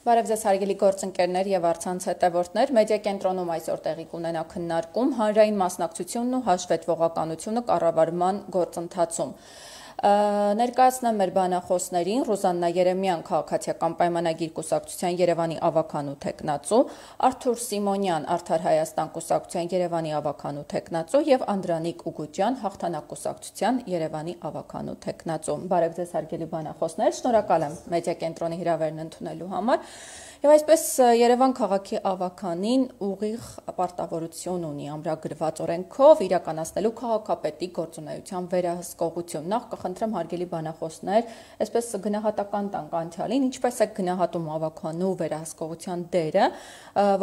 Բարև ձեզ հարգելի գործընկերներ եւ առցանց հետևորդներ, մեդիա կենտրոնում այսօր տեղի կունենա քննարկում հանրային մասնակցությունն ու հաշվետվողականությունը կառավարման գործընթացում։ Ներկայացնեմ մեր բանախոսներին Ռուզաննա Երեմյան քաղաքացիական պայմանագիր կուսակցության Երևանի ավականու թեկնածու, Արթուր Սիմոնյան Արդար Հայաստան կուսակցության Երևանի ավականու թեկնածու եւ Անդրանիկ Ուգուջյան Հաղթանակ կուսակցության Երևանի ավականու թեկնածու։ Բարև ձեզ հարգելի բանախոսներ, շնորհակալ եմ մեդիա կենտրոնի հրավերն ընդունելու համար։ Եվ այսպես Երևան քաղաքի ավականին ուղիղ պարտավորություն ունի ամրագրված օրենքով իրականացնելու քաղաքապետի գործունեության վերահսկողություն։ Նախ կխնդրեմ հարգելի բանախոսներ, այսպես գնահատական տանք անցյալին, ինչպես է գնահատում ավականու վերահսկողության դերը,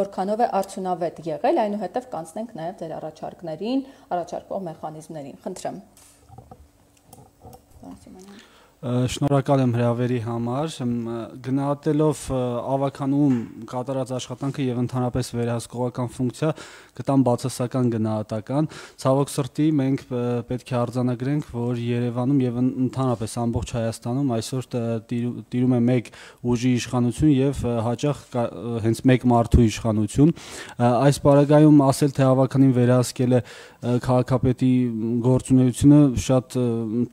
որքանով է արդյունավետ եղել, այնուհետև կանցնենք նաև ձեր առաջարկներին, առաջարկող մեխանիզմներին։ Խնդրեմ։ Շնորհակալ եմ հրավերի համար, գնահատելով ավականուում կատարած աշխատանքը եւ ընդհանրապես վերահսկողական ֆունկցիա կտամ բացասական գնահատական, ցավոք սրտի մենք պետք է արձանագրենք, որ Երևանում եւ ընդհանրապես ամբողջ Հայաստանում այսօր տիրում է մեկ ուժի իշխանություն եւ հաճախ հենց մեկ մարդու իշխանություն, այս պարագայում ասել թե ավականին վերահսկել է քաղաքապետի գործունեությունը շատ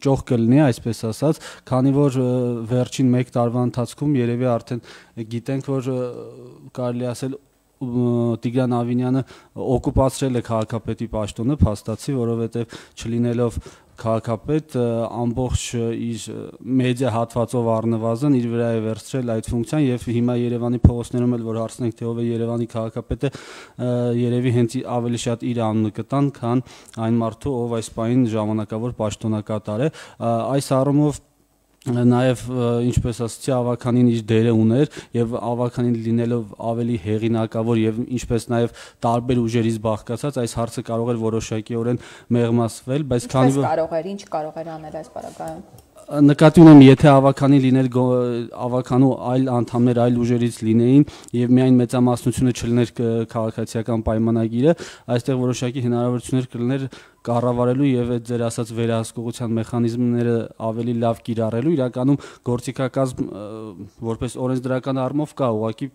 ճոխ կլինի, այսպես ասած, քանի որ վերջին 1 տարվա ընթացքում երևի արդեն գիտենք, որ կարելի ասել Տիգրան Ավինյանը օկուպացրել է քաղաքապետի պաշտոնը, փաստացի, որովհետև չլինելով քաղաքապետ ամբողջ իր մեդիա հատվածով առնվազն իր վրա է վերցրել այդ ֆունկցիան եւ հիմա Երևանի փողոցներում էլ որ հարցնենք թե ով է Երևանի քաղաքապետը, երևի հենց ավելի շատ իր անունը կտան, քան այն մարդու, ով այս պահին ժամանակավոր պաշտոնակատար է, այս առումով նաև ինչպես ասացի ավականին իր դերը ուներ եւ ավականին լինելով ավելի հեղինակավոր եւ ինչպես նաև տարբեր ուժերից բաղկացած այս հարցը կարող էր որոշակիորեն մեղմասվել, բայց քանի որ կարող էր, ինչ կարող էր անել այս պարագայում նկատի ունեմ, եթե ավականին լիներ ավականու այլ անդամներ այլ ուժերից լինեին եւ միայն մեծամասնությունը չլիներ քաղաքացիական պայմանագիրը, այստեղ որոշակի հնարավորություններ կլիներ կառավարելու եւ այդ ձեր ասած վերահսկողության մեխանիզմները ավելի լավ կիրառելու, իրականում գործիքակազմ որպես օրենսդրական առումով կա, ուղղակի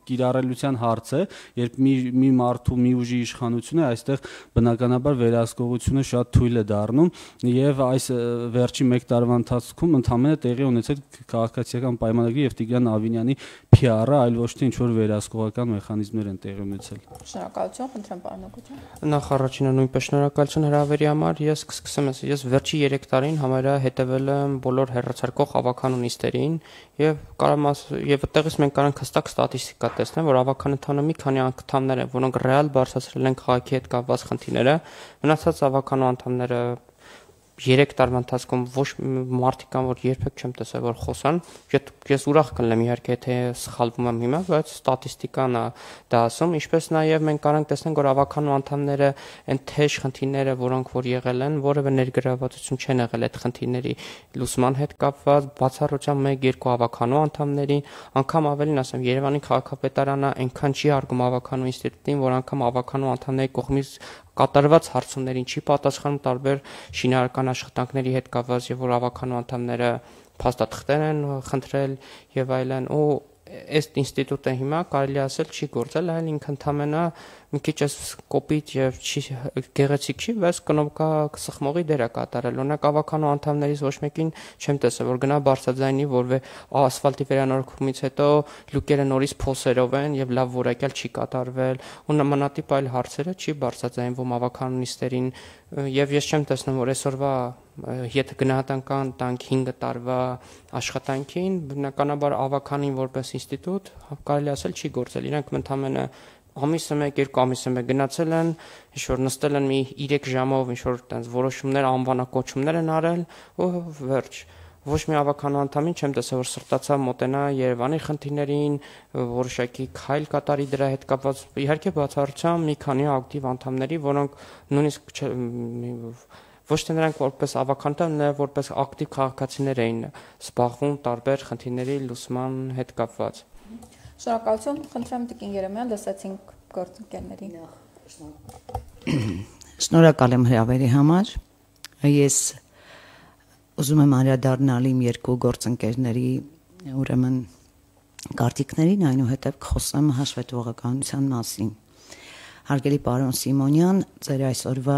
կիրառելիության հարց է, երբ մի մարդու մի ուժի իշխանություն է, այստեղ բնականաբար վերահսկողությունը շատ թույլ է դառնում եւ այս վերջի 1 տարվա ընթացքում ընդհանրապես տեղի ունեցել քաղաքացիական պայմանագրի եւ Տիգրան Ավինյանի PR-ը, այլ ոչ թե ինչ որ վերահսկողական մեխանիզմներ են տեղի ունեցել։ Շնորհակալություն, խնդրեմ պարոն Օգուջյան։ Նախ առաջինը նույնպես շնորհակալություն հրավերի համար, ես կսկսեմ ես վերջի 3 տարին համարյա հետևել եմ բոլոր հեռացարկող ավականու նիստերին եւ կարամ եւ այդտեղից մենք կարող հստակ ստատիստիկա տեսնենք, որ ավականն ընդհանուր մի քանի անդամներ են, որոնք ռեալ բարձրացրել են քաղաքի հետ կապված խնդիրները, մնացած ավականու անդամները 3 տարվա ընթացքում ոչ մարդիկ կան, որ երբեք չեմ տեսել, որ խոսան, ես ուրախ կլինեմ իհարկե, թե սխալվում եմ հիմա, բայց ստատիստիկան է դա ասում, ինչպես նաև մենք կարող ենք տեսնել, որ ավականու անդամները այն թեժ խնդիրները, որոնք որ եղել են, որևէ ներգրավվածություն չեն եղել այդ խնդիրների լուծման հետ կապված, բացառությամբ 1-2 ավականու անդամներին, անգամ ավելին ասեմ, Երևանի քաղաքապետարանը այնքան չի արգում ավականու ինստիտուտին, որ անգամ ավականու անդամների կողմից կատարված հարցումներին չի պատասխանում տարբեր շինարարական աշխատանքների հետ կապված եւ որ ավականու անդամները փաստաթղթեր են խնդրել եւ այլն ու այս ինստիտուտը հիմա կարելի ասել չի գործել, այլ ինքը ընդհանրապես մի քիչ կոպիտ եւ չի գեղեցիկ չի, բայց կնոպկա սխմողի դեր է կատարել։ Օրինակ ավականու անդամներից ոչ մեկին չեմ տեսել, որ գնա բարձրաձայնի, որ ասֆալտի վերանորոգումից հետո լուկերը նորից փոսերով են եւ լավ որակյալ չի կատարվել, ու նմանատիպ այլ հարցերը չի բարձրաձայնվում ավականու նիստերին եւ ես չեմ տեսնում, որ այսօրվա եթե գնահատական տանք 5 տարվա աշխատանքին, բնականաբար ավականին որպես ինստիտուտ կարելի ասել չի գործել, իրանք ընդհանրապես ամիսը 1-2 ամիսը 1 գնացել են, ինչ որ նստել են մի 3 ժամով, ինչ որ տենց որոշումներ, անվանակոչումներ են արել ու վերջ։ Ոչ մի ավականու անդամին չեմ տեսել, որ սրտացավ մոտենա Երևանի խնդիրներին, որոշակի քայլ կատարի դրա հետ կապված, իհարկե բացառությամբ մի քանի ակտիվ անդամների, որոնք նույնիսկ ոչ թե նրանք որպես ավականներ, այլ որպես ակտիվ քաղաքացիներ էին զբաղվում տարբեր խնդիրների լուծման հետ կապված։ Շնորհակալություն, խնդրեմ Տիկին Երեմյան, լսեցինք գործընկերներին։ Շնորհակալ եմ հրավերի համար։ Ես ուզում եմ անդրադառնալ իմ 2 գործընկերների ուրեմն կարծիքներին, այնուհետև խոսեմ հաշվետվողականության մասին։ Հարգելի պարոն Սիմոնյան, ձեր այսօրվա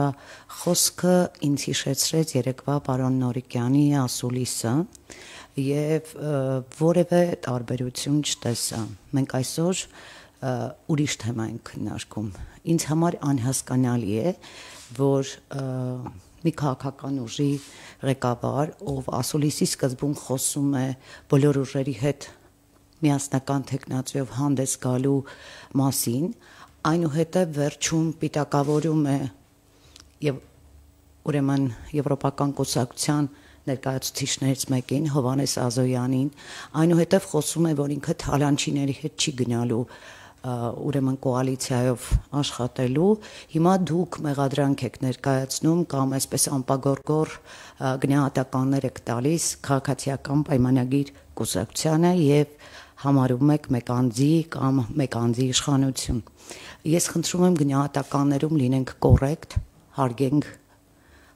խոսքը ինձ հիշեցրեց երեկվա պարոն Նորիկյանի ասուլիսը եւ որևէ տարբերություն չտեսա։ Մենք այսօր ուրիշ թեմա ենք քննարկում։ Ինձ համար անհասկանալի է, որ մի քաղաքական ուժի ղեկավար, ով ասուլիսի սկզբում խոսում է բոլոր ուժերի հետ միասնական թեկնածուով հանդես գալու մասին, այնուհետև վերջում պիտակավորում է եւ ուրեմն Եվրոպական կուսակցության ներկայացուցիչներից մեկին Հովհաննես Ազոյանին, այնուհետև խոսում է, որ ինքը թալանչիների հետ չի գնալու ուրեմն կոալիցիայով աշխատելու, հիմա դուք մեղադրանք եք ներկայացնում կամ այսպես անպագորգոր գնահատականներ եք տալիս քաղաքացիական պայմանագիր կուսակցությանը եւ համարում եք մեկ անձի կամ մեկ անձի իշխանություն։ Ես խնդրում եմ գնահատականներում լինենք կոռեկտ, հարգենք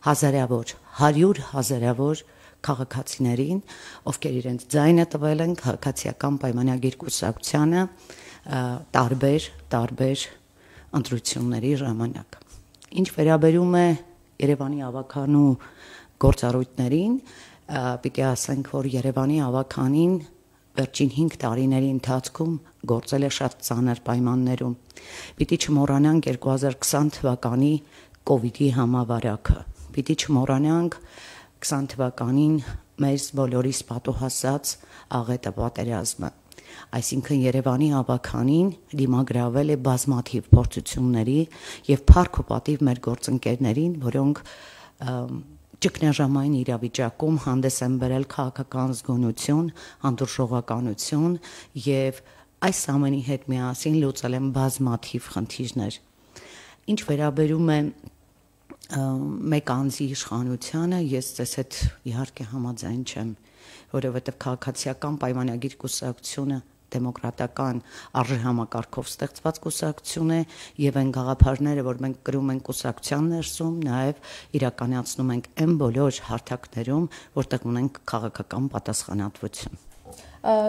հազարավոր, 100 հազարավոր քաղաքացիներին, ովքեր իրենց ձայնը տվել են քաղաքացիական պայմանագիր կուսակցությանը տարբեր ընտրությունների ժամանակ։ Ինչ վերաբերում է Երևանի ավականու գործառույթներին, պիտի ասենք, որ Երևանի ավականին վերջին 5 տարիների ընթացքում գործել է շատ ծանր պայմաններում։ Պիտի չմոռանանք 2020 թվականի կոവിഡ്ի համավարակը։ Պիտի չմոռանանք 20 թվականին մեզ բոլորիս պատուհասած աղետը պատերազմը։ Այսինքն Երևանի ավականին դիմագրավել է բազմաթիվ փորձությունների եւ փառք ու պատիվ մեր գործընկերներին, որոնք ճգնաժամային իրավիճակում հանդես են բերել քաղաքական զգոնություն, հանդուրժողականություն եւ այս ամենի հետ միասին լուծել են բազմաթիվ խնդիրներ։ Ինչ վերաբերում է մեկ անձի իշխանությանը, ես ձեզ հետ իհարկե համաձայն չեմ, որովհետեւ քաղաքացիական պայմանագիր կուսակցությունը դեմոկրատական արժեհամակարգով ստեղծված կուսակցություն է եւ այն գաղափարները, որ մենք կրում ենք կուսակցության ներսում, նաեւ իրականացնում ենք այն բոլոր հարթակներում, որտեղ ունենք քաղաքական պատասխանատվություն։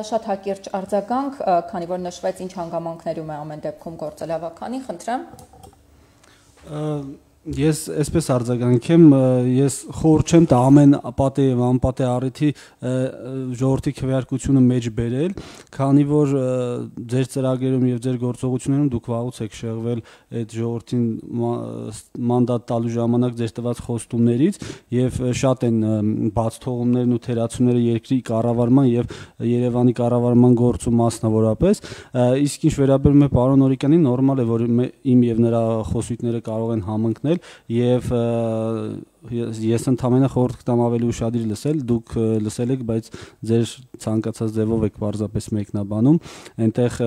Շատ հակիրճ արձագանք, քանի որ նշվեց ինչ հանգամանքներում է ամեն դեպքում գործել ավականին, խնդրեմ։ Ես այսպես արձագանքեմ, ես խորհուրդ չեմ տա ամեն պատե եւ անպատե առիթի ժողովրդի քվեարկությունը մեջ բերել, քանի որ ձեր ծրագրերում եւ ձեր գործողություններում դուք վաղուց եք շեղվել այդ ժողովրդին մանդատ տալու ժամանակ ձեր տված խոստումներից եւ շատ են բաց թողումներն ու թերացումները երկրի կառավարման եւ Երևանի կառավարման գործում մասնավորապես, իսկ ինչ վերաբերում է պարոն Նորիկյանին, նորմալ է, որ իմ եւ նրա խոսույթները կարող են համընկնել եւ ես ընդհանրապես խորհուրդ կտամ ավելի ուշադիր լսել, դուք լսել եք, բայց ձեր ցանկացած ձևով եք պարզապես մեկնաբանում, այնտեղ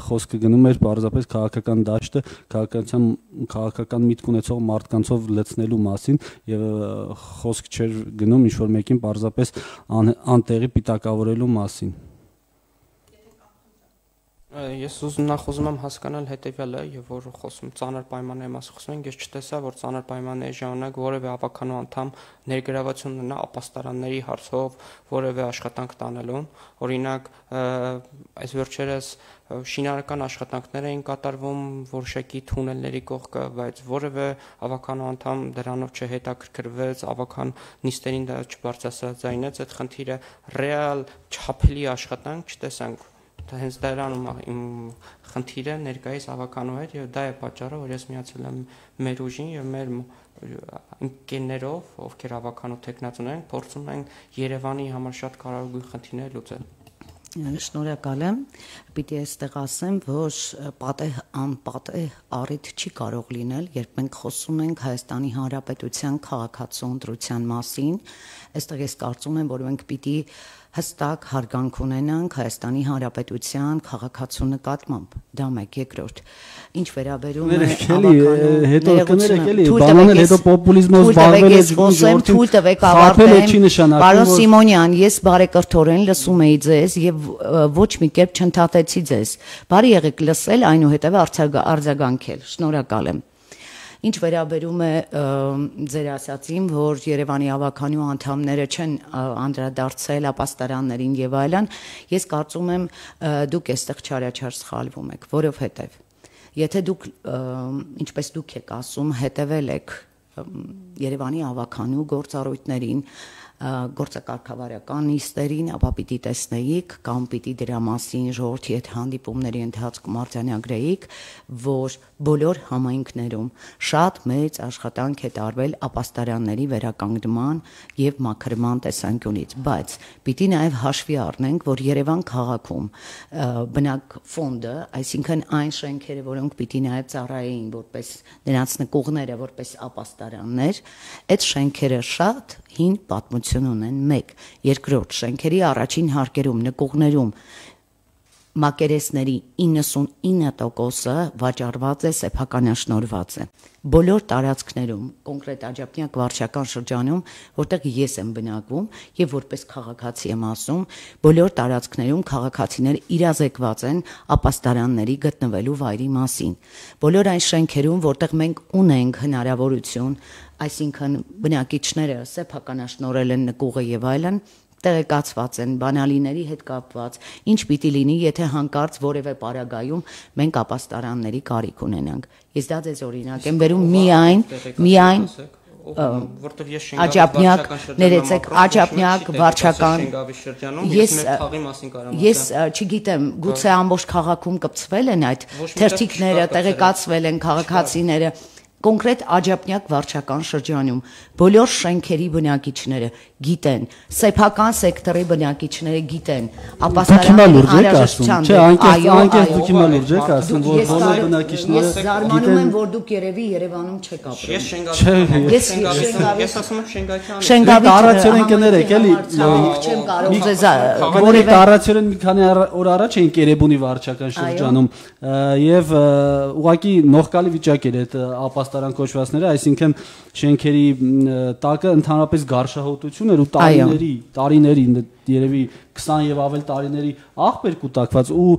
խոսքը գնում էր պարզապես քաղաքական դաշտը, քաղաքական միտք ունեցող մարդկանցով լցնելու մասին եւ խոսք չէր գնում ինչ որ մեկին պարզապես անտեղի պիտակավորելու մասին։ Ես նախ ուզում եմ հասկանալ հետեւյալը, եւ որ խոսում ծանր պայմանների մասին խոսում ենք, ես չտեսա, որ ծանր պայմանների ժամանակ որևէ ավականու անդամ ներգրավություն ունենա ապաստարանների հարցով որևէ աշխատանք տանելուն, օրինակ այս վերջերս շինարարական աշխատանքներ էին կատարվում որոշակի թունելների կողքը, բայց որևէ ավականու անդամ դրանով չհետաքրքրվեց, ավական նիստերին դա չբարձրացրեց, այդ խնդիրը ռեալ չափելի աշխատանք չտեսանք։ Հենց դրանում իմ խնդիրը ներկայիս ավականու հետ եւ դա է պատճառը, որ ես միացել եմ մեր ուժին եւ մեր ընկերներով, ովքեր ավականու տեխնացուներ են, փորձում ենք Երևանի համար շատ կարևոր խնդիրներ լուծել։ Շնորհակալ եմ։ Պիտի այստեղ ասեմ, որ անպատե առիթ չի կարող լինել, երբ մենք խոսում ենք Հայաստանի Հանրապետության քաղաքացու ընտրության մասին, այստեղ ես կարծում եմ, որ մենք պիտի հստակ հարգանք ունենանք Հայաստանի Հանրապետության քաղաքացու նկատմամբ։ Դա մեկ, երկրորդ։ Ինչ վերաբերում է հետո կներեք էլի, բանանել հետո պոպուլիզմով զբաղվել եք, թույլ տվեք ավարտեմ։ Պարոն Սիմոնյան, ես բարեկրթորեն լսում էի ձեզ եւ ոչ մի կերպ չընդհատեցի ձեզ։ Բարի եղեք լսել, այնուհետեւ արձագանքել։ Շնորհակալ եմ։ Ինչ վերաբերում է ձեր ասածին, որ Երևանի ավականու անդամները չեն անդրադարձել ապաստարաններին եւ այլն, ես կարծում եմ դուք այստեղ չարաչար սխալվում եք, որովհետեւ եթե դուք ինչպես դուք եք ասում, հետևել եք Երևանի ավականու գործառույթներին, գործակարգավարական նիստերին, ապա պիտի տեսնեիք կամ պիտի դրա մասին ժողովրդի հետ հանդիպումների ընթացքում արձանագրեիք, որ բոլոր համայնքներում շատ մեծ աշխատանք է տարվել ապաստարանների վերականգնման եւ մաքրման տեսանկյունից, բայց պիտի նաեւ հաշվի առնենք, որ Երևան քաղաքում բնակ ֆոնդը, այսինքն այն շենքերը, որոնք պիտի նաեւ ծառայեին որպես նրանց նկուղները, որպես ապաստարաններ, այդ շենքերը շատ հին պատմություն ունեն, մեկ, երկրորդ շենքերի առաջին հարկերում, նկուղներում մակերեսների 99%-ը վաճառված է, սեփականաշնորհված է։ Բոլոր տարածքներում, կոնկրետ Աջափնյակ վարչական շրջանում, որտեղ ես եմ բնակվում եւ որպես քաղաքացի եմ ասում, բոլոր տարածքներում քաղաքացիները իրազեկված են ապաստարանների գտնվելու վայրի մասին։ Բոլոր այն շենքերում, որտեղ մենք ունենք հնարավորություն, այսինքն բնակիչները սեփականաշնորհել են նկուղը եւ այլն, տեղեկացված են բանալիների հետ կապված, ինչ պիտի լինի, եթե հանկարծ որևէ պարագայում մենք ապաստարանների կարիք ունենանք։ Ես դա ձեզ օրինակ եմ բերում միայն որտեղ ես Աջափնյակ, ներեցեք, Աջափնյակ վարչական ես չգիտեմ, գուցե ամբողջ քաղաքում կպցվել են այդ թերթիկները, տեղեկացվել են քաղաքացիները, կոնկրետ Աջափնյակ վարչական շրջանում բոլոր շենքերի բնակիչները գիտեն, սեփական սեկտորի բնակիչները գիտեն, ապաստարանների անհրաժեշտության, չէ, անկեղծ դուք հիմա լուրջ եք ասում, որ բոլոր բնակիչները ես զարմանում եմ, որ դուք երևի Երևանում չեք ապրում։ Ես ասում եմ Շենգավիթ տարածորեն կներեք, էլի չեմ կարող ձեզ որևէ տարածորեն մի քանի օր առաջ էինք Երևանի վարչական շրջանում եւ ուղղակի նողկալի վիճակ էր այդ ապաստարան կոչվածները, այսինքն շենքերի տակը ընդհանրապես գարշահոտություն էր ու տարիների երևի 20 եւ ավել տարիների աղբեր կուտակված ու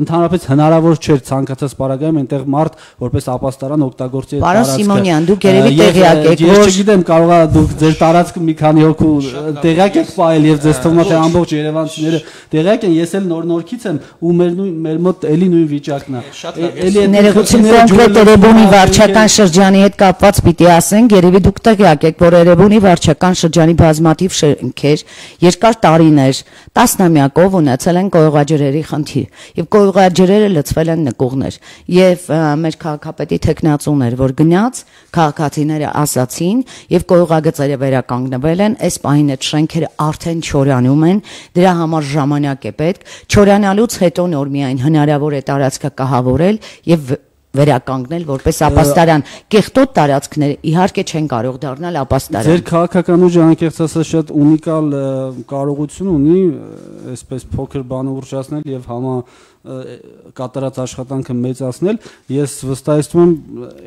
ընդհանրապես հնարավոր չէր ցանկացած պարագայում այնտեղ մարդ որպես ապաստարան օգտագործի այդ տարածքը։ Պարոն Սիմոնյան, դուք երևի տեղյակ եք, որ ես չգիտեմ, կարողա դուք ձեր տարածքը մի քանի հոգու տեղյակ եք ֆայլ եւ ձեզ թվում է թե ամբողջ երևանցիները տեղյակ են, ես էլ նորից եմ ու մեր մոտ էլի նույն վիճակն է։ Էլի ներողություն կոնկրետ Երևանի վարչական շրջանի հետ կապված պիտի ասենք, երևի դուք տեղյակ եք, որ Երևանի վարչական շրջանի բազմաթիվ շենքեր երկար տարիներ տասնամյակով ունեցել են կոյուղաջրերի խնդիր եւ կոյուղաջրերը լցվել են նկուղներ եւ մեր քաղաքապետի թեկնածուներ որ գնաց քաղաքացիները ասացին եւ կոյուղագծերը վերականգնվել են այս պահին այդ շենքերը արդեն չորանում են դրա համար ժամանակ է պետք չորանալուց հետո նոր միայն հնարավոր է տարածքը կահավորել եւ վերականգնել որպես ապաստարան կեղտոտ տարածքները իհարկե չեն կարող դառնալ ապաստարան։ Ձեր քաղաքական ուժը անկեղծ ասած շատ ունիկալ կարողություն ունի այսպես փոքր բան ուռճացնել եւ կատարած աշխատանքը մեծացնել։ Ես վստահեցնում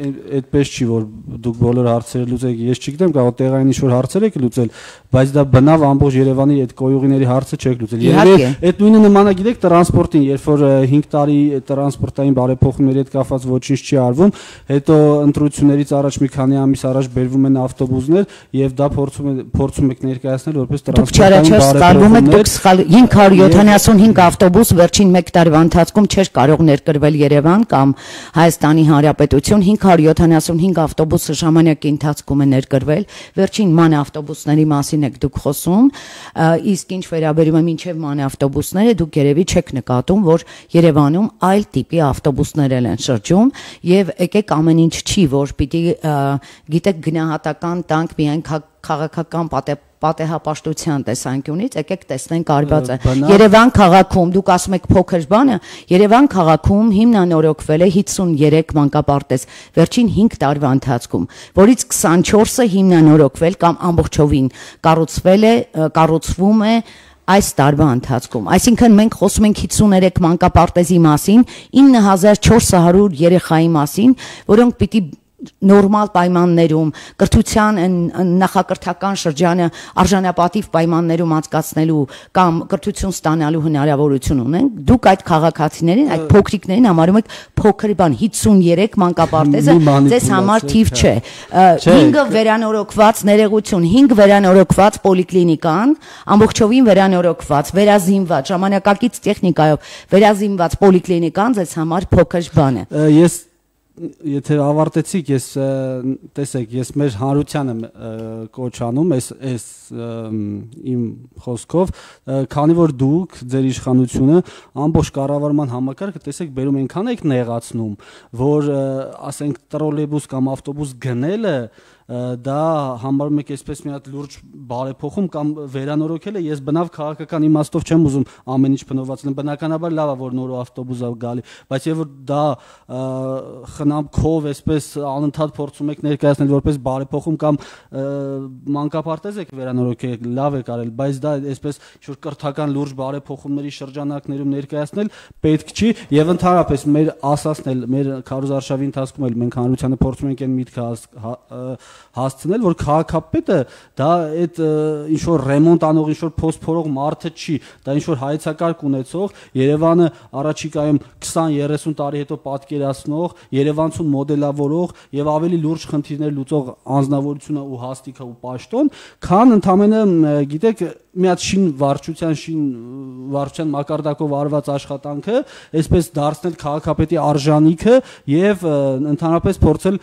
եմ այդպես չի որ դուք բոլոր հարցերը լուծեք։ Ես չգիտեմ կարող տեղային ինչ-որ հարցեր եք լուծել, բայց դա բնավ ամբողջ Երևանի այդ կոյուղիների հարցը չեք լուծել։ Երևի այդ նույնը նմանը գիտեք տրանսպորտին, երբ որ 5 տարի տրանսպորտային բարեփոխումների հետ կապված ոչինչ չի արվում, հետո ընտրություններից առաջ մի քանի ամիս առաջ բերվում են ավտոբուսներ եւ դա փորձում եք ներկայացնել որպես տրանսպորտային բարեփոխումներ։ 575 ավտոբուս վերջին 1 տարվա ընթացքում չէր կարող ներկրվել Երևան կամ Հայաստանի Հանրապետություն 575 ավտոբուսը ժամանակի ընթացքում է ներկրվել վերջին ման ավտոբուսների մասին եք դուք խոսում իսկ ինչ վերաբերում է մինչև ման ավտոբուսները դուք երևի չեք նկատում որ Երևանում այլ տիպի ավտոբուսներ են շրջում եւ եկեք ամեն ինչ չի որ պիտի գիտեք գնահատական տանք միայն քաղաքական պատեհապաշտության տեսանկյունից եկեք տեսնենք արվածը Երևան քաղաքում դուք ասում եք փոքր բանը Երևան քաղաքում հիմնանորոգվել է 53 մանկապարտեզ վերջին 5 տարվա ընթացքում որից 24-ը հիմնանորոգվել կամ ամբողջովին կառուցվում է այս տարվա ընթացքում այսինքն մենք խոսում ենք 53 մանկապարտեզի մասին 9400 երեխայի մասին որոնք պիտի նորմալ պայմաններում կրթության նախակրթական շրջանը արժանապատիվ պայմաններում անցկացնելու կամ կրթություն ստանալու հնարավորություն ունենք, դուք այդ քաղաքացիներին, այդ փոքրիկներին համարում եք փոքր բան, 53 մանկապարտեզը ձեզ համար թիվ չէ։ 5 վերանորոգված ներեգություն, 5 վերանորոգված պոլիկլինիկան, ամբողջովին վերանորոգված, վերազինված, ժամանակակից տեխնիկայով վերազինված պոլիկլինիկան ձեզ համար փոքր բան է։ Ես եթե ավարտեցիք, ես տեսեք, ես մեր հանրությանը կոչ անում այս իմ խոսքով, քանի որ դուք ձեր իշխանությունը ամբողջ կառավարման համակարգը տեսեք բերում այնքան եք նեղացնում, որ ասենք տրոլեյբուս կամ ավտոբուս գնելը դա համարում եք այսպես մի հատ լուրջ բարեփոխում կամ վերանորոգելը, ես բնավ քաղաքական իմաստով չեմ ուզում ամեն ինչ բնովացնել, բնականաբար լավ է որ նոր ավտոբուս է գալի, բայց եւ որ դա խնամքով այսպես անընդհատ փորձում եք ներկայացնել որպես բարեփոխում կամ մանկապարտեզ եք վերանորոգել, լավ եք արել, բայց դա այսպես ինչ-որ կրթական լուրջ բարեփոխումների շրջանակներում ներկայացնել պետք չի եւ ընդհանրապես մեր ասածն էլ մեր քարոզարշավի ընթացքում էլ մենք հանրությանը փորձում ենք այն միտքը հասցնել, որ քաղաքապետը դա այդ ինչ որ ռեմոնտ անող, ինչ որ փոստ փորող մարդը չի, դա ինչ որ հայեցակարգ ունեցող, Երևանը առաջիկայում 20-30 տարի հետո պատկերացնող, երևանցուն մոդելավորող եւ ավելի լուրջ խնդիրներ լուծող անձնավորությունը ու հաստիքը ու պաշտոն, քան ընդամենը գիտեք մի հատ վարչության մակարդակով արված աշխատանքը, այսպես դարձնել քաղաքապետի արժանիքը եւ ընդհանրապես փորձել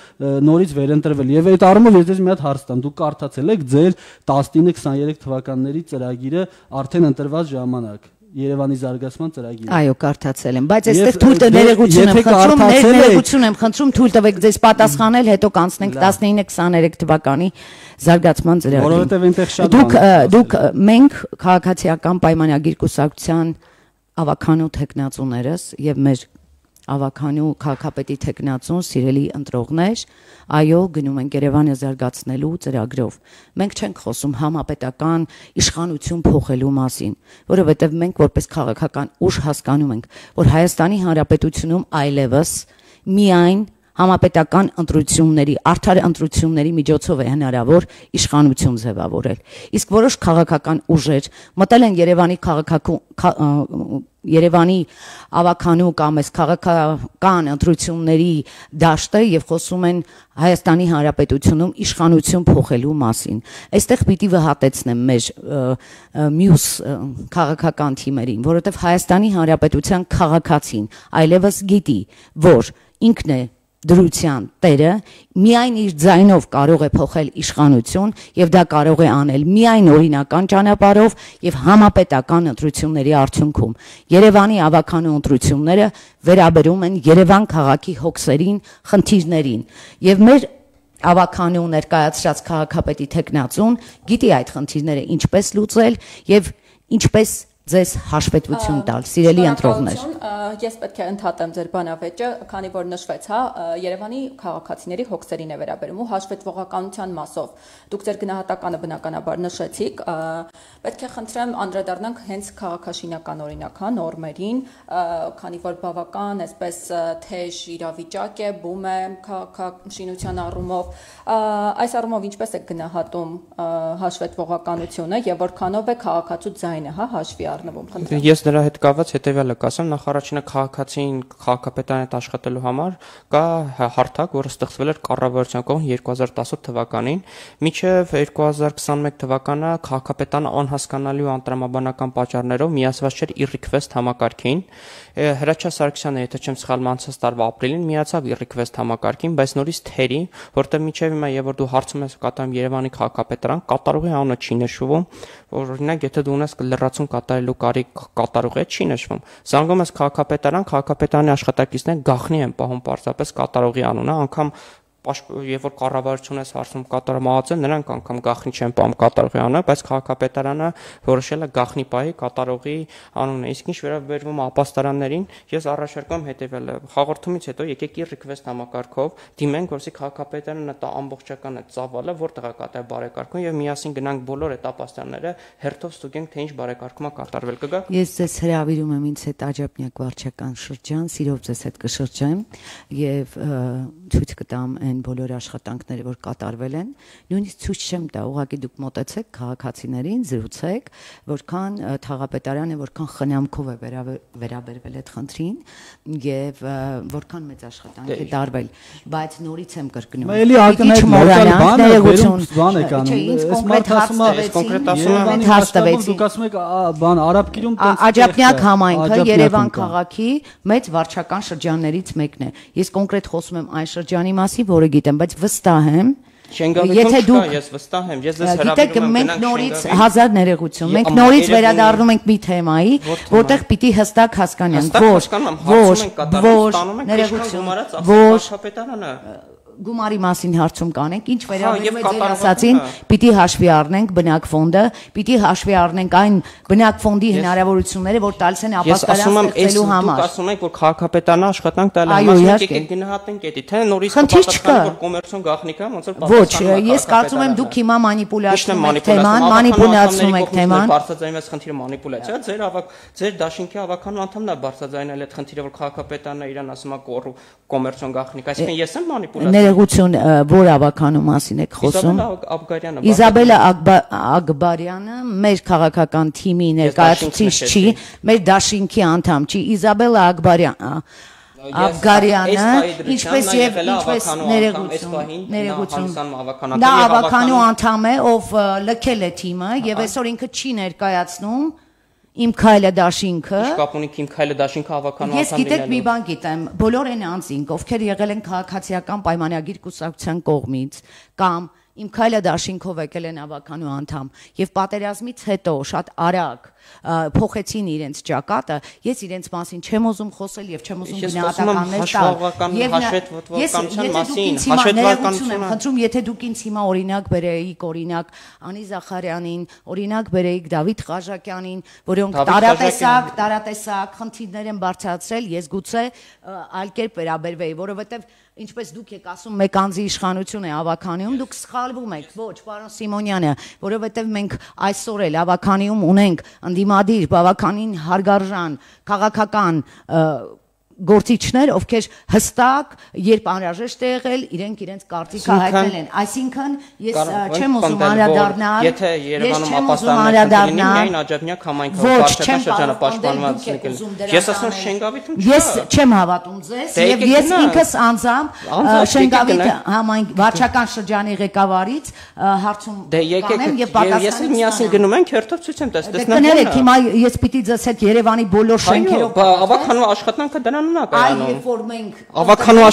նորից վերընտրվել։ Եվ այդ առումով ես ձեզ մի հատ հարց տամ, դուք կարդացել եք ձեր 19-23 թվականների ծրագիրը արդեն ընտրված ժամանակ։ Երևանի զարգացման ծրագիրը։ Այո, կարդացել եմ, բայց այստեղ թույլ ներեգություն եմ խնդրում, թույլ տվեք ձեզ պատասխանել, հետո կանցնենք 19-23 թվականի զարգացման ծրագիրը։ Որովհետև այնտեղ շատ դուք մենք քաղաքացիական պայմանագիր կուսակցության ավականու տեխնացուներս եւ մեր ավականու քաղաքապետի տեխնացուն սիրելի ընտրողներ, այո, գնում ենք Երևանը զարգացնելու ծրագրով։ Մենք չենք խոսում համապետական իշխանություն փոխելու մասին, որովհետև մենք որպես քաղաքական ուժ հասկանում ենք, որ Հայաստանի Հանրապետությունում այլևս միայն համապետական ընտրությունների, արդար ընտրությունների միջոցով է հնարավոր իշխանություն ձևավորել։ Իսկ որոշ քաղաքական ուժեր մտել են Երևանի ավականու կամ այս քաղաքական ընտրությունների դաշտը եւ խոսում են Հայաստանի Հանրապետությունում իշխանություն փոխելու մասին։ Այստեղ պիտի վհատեցնեմ մեր մյուս քաղաքական թիմերին, որովհետեւ Հայաստանի Հանրապետության քաղաքացին այլևս գիտի, որ ինքն է դրության տերը, միայն իր ձայնով կարող է փոխել իշխանություն եւ դա կարող է անել միայն օրինական ճանապարհով եւ համապետական ընտրությունների արդյունքում։ Երևանի ավականու ընտրությունները վերաբերում են Երևան քաղաքի հոգսերին, խնդիրներին եւ մեր ավականու ներկայացրած քաղաքապետի տեխնացուն գիտի այդ խնդիրները ինչպես լուծել եւ ինչպես ձեզ հաշվետվություն տալ, սիրելի ընտրողներ։ Ես պետք է ընդհատեմ ձեր բանավեճը, քանի որ նշվեց, հա, Երևանի քաղաքացիների հոգսերին է վերաբերում ու հաշվետվողականության մասով։ Դուք ձեր գնահատականը բնականաբար նշեցիք, պետք է խնդրեմ անդրադառնանք հենց քաղաքաշինական օրինակ, հա, նորմերին, քանի որ բավական այսպես թեժ իրավիճակ է, բում է քաղաքաշինության առումով։ Այս առումով ինչպես եք գնահատում հաշվետվողականությունը եւ որքանով է քաղաքացու ձայնը, հա, հաշվի Ես դրա հետ կապված հետևյալը կասեմ, նախ առաջինը քաղաքացին քաղաքապետարանի հետ աշխատելու համար կա հարթակ, որը ստեղծվել էր կառավարության կողմից 2018 թվականին, մինչև 2021 թվականը քաղաքապետարանը անհասկանալի ու անտրամաբանական պատճառներով միացված չէր e-request համակարգին։ Հրաչյա Սարգսյանը, եթե չեմ սխալվում, անցած տարվա ապրիլին միացավ e-request համակարգին, բայց նորից թերի, որտեղ մինչև հիմա եւ որ դու հարցում ես կատարում Երևանի քաղաքապետարան, կատարողի անունը չի նշվում, որ օրինակ եթե դու ունես լրացում կատարելու կարիք կատարողի չի նշվում։ Զանգում ես քաղաքապետարանի աշխատակիցները գաղտնի են պահում պարզապես կատարողի անունը, անգամ եւ որ կառավարությունն է հարցում կատարողը, նրանք անգամ գաղտնի չեն պահում կատարողի անունը, բայց քաղաքապետարանը որոշել է գաղտնի պահի կատարողի անունը։ Իսկ ինչ վերաբերվում ապաստարաններին, ես առաջարկում եմ հետեւյալը. հաղորդումից հետո եկեք e-request համակարգով դիմենք, որսի քաղաքապետարանը տա ամբողջական այդ ծավալը, որտեղ է կատարել բարեկարգում եւ միասին գնանք բոլոր այդ ապաստարանները հերթով ստուգենք, թե ինչ բարեկարգում է կատարվել։ Կգաք։ Ես ձեզ հրավիրում եմ ինձ հետ Աջափնյակ վարչական շրջան, սիրով ձեզ հետ կշրջեմ եւ ցույց կտամ այն բոլոր աշխատանքները, որ կատարվել են, նույնիսկ ցույց չեմ տա, ուղղակի դուք մոտեցեք քաղաքացիներին, զրուցեք, որքան թաղապետարանը, որքան խնամքով է վերաբերվել այդ խնդրին եւ որքան մեծ աշխատանք է տարվել, բայց նորից եմ կրկնում։ Էլի ակնհայտ լոկալ բան է, բան է կանում։ Այս կոնկրետ հարց տվեցի։ Դուք ասում եք բան Արաբկիրում Աջափնյակ համայնքը Երևան քաղաքի մեծ վարչական շրջաններից մեկն է։ Ես կոնկրետ խոսում եմ այն շրջանի մասին, որը գիտեմ, բայց վստահ եմ, Եթե դուք ես վստահ եմ, ես ձեզ հրավիրում եմ մենք նորից հազար ներողություն, մենք նորից վերադառնում ենք մի թեմայի, որտեղ պիտի հստակ հասկանանք, ոչ, ներողություն, ոչ, գումարի մասին հարցում կանենք, ինչ վերաբերում է ձեր ասացին, պիտի հաշվի առնենք բնակ ֆոնդը, պիտի հաշվի առնենք այն բնակ ֆոնդի հնարավորությունները, որ տալիս են ապաստարան ստեղծելու համար։ Դուք ասում եք, որ քաղաքապետարանը աշխատանք տալու համար եկեք գնահատենք դա, թե նորից կպատասխանի, որ կոմերցիոն գաղտնիք է, ոնց որ պատասխանում։ Ոչ, ես կարծում եմ դուք հիմա մանիպուլացնում եք թեման, բարձրաձայնվեց խնդիրը մանիպուլյացիա, ձեր դաշինքի ավականու անդամն է բարձրաձայնել այդ խնդիրը, որ քաղաքապետարանը իրան ասում է կոմերցիոն գաղտնիք, այսինքն ես եմ մանիպուլացիա Ներողություն, որ ավականու մասին եք խոսում։ Իզաբելա Ագբարյանը մեր քաղաքական թիմի ներկայացուցիչ չի, մեր դաշինքի անդամ չի։ Իզաբելա Աբգարյանը, ինչպես եւ ներողություն, նա ավականու անդամ է, ով լքել է թիմը եւ այսօր ինքը չի ներկայացնում Իմ քայլը դաշինքը։ Ինչ կապ ունի Իմ քայլը դաշինքը ավականու անդամ լինելու։ Ես գիտեք մի բան գիտեմ, բոլոր այն անձինք, ովքեր եղել են քաղաքացիական պայմանագիր կուսակցության կողմից կամ Իմ քայլը դաշինքով եկել են ավականու անդամ եւ պատերազմից հետո շատ արագ փոխեցին իրենց ճակատը, ես իրենց մասին չեմ ուզում խոսել եւ չեմ ուզում գնահատականներ տալ։ Խնդրում, եթե դուք ինձ հիմա օրինակ բերեիք, օրինակ Անի Զախարյանին, օրինակ բերեիք Դավիթ Ղաժակյանին, որոնք տարատեսակ խնդիրներ են բարձրացրել, ես գուցե այլ կերպ վերաբերվեի, որովհետեւ ինչպես դուք եք ասում, մեկ անձի իշխանություն է ավականիում, դուք սխալվում եք, ոչ, պարոն Սիմոնյանը, որովհետև մենք այսօր էլ ավականիում ունենք ընդդիմադիր, բավականին հարգարժան, քաղաքական գործիչներ, ովքեր հստակ, երբ անհրաժեշտ է եղել, իրենց կարծիքը հայտնել են։ Այսինքն ես չեմ ուզում անդրադառնալ, եթե Երևանում ապաստաններ միայն Աջափնյակ համայնքը վարչական շրջանը պաշտպանված եկել։ Ես ասում Շենգավիթում չկա։ Ես չեմ հավատում ձեզ, եւ ես ինքս անձամբ Շենգավիթ համայնք վարչական շրջանի ղեկավարից հարցում կանեմ եւ պատասխանեմ։ Ես միասին գնում ենք հերթով ցույց եմ տալիս։ Տեսնեք, հիմա ես պիտի ձեզ հետ Երևանի բոլոր շենքերով ավականու աշխատանքը դրան Այ երբ որ մենք ավականու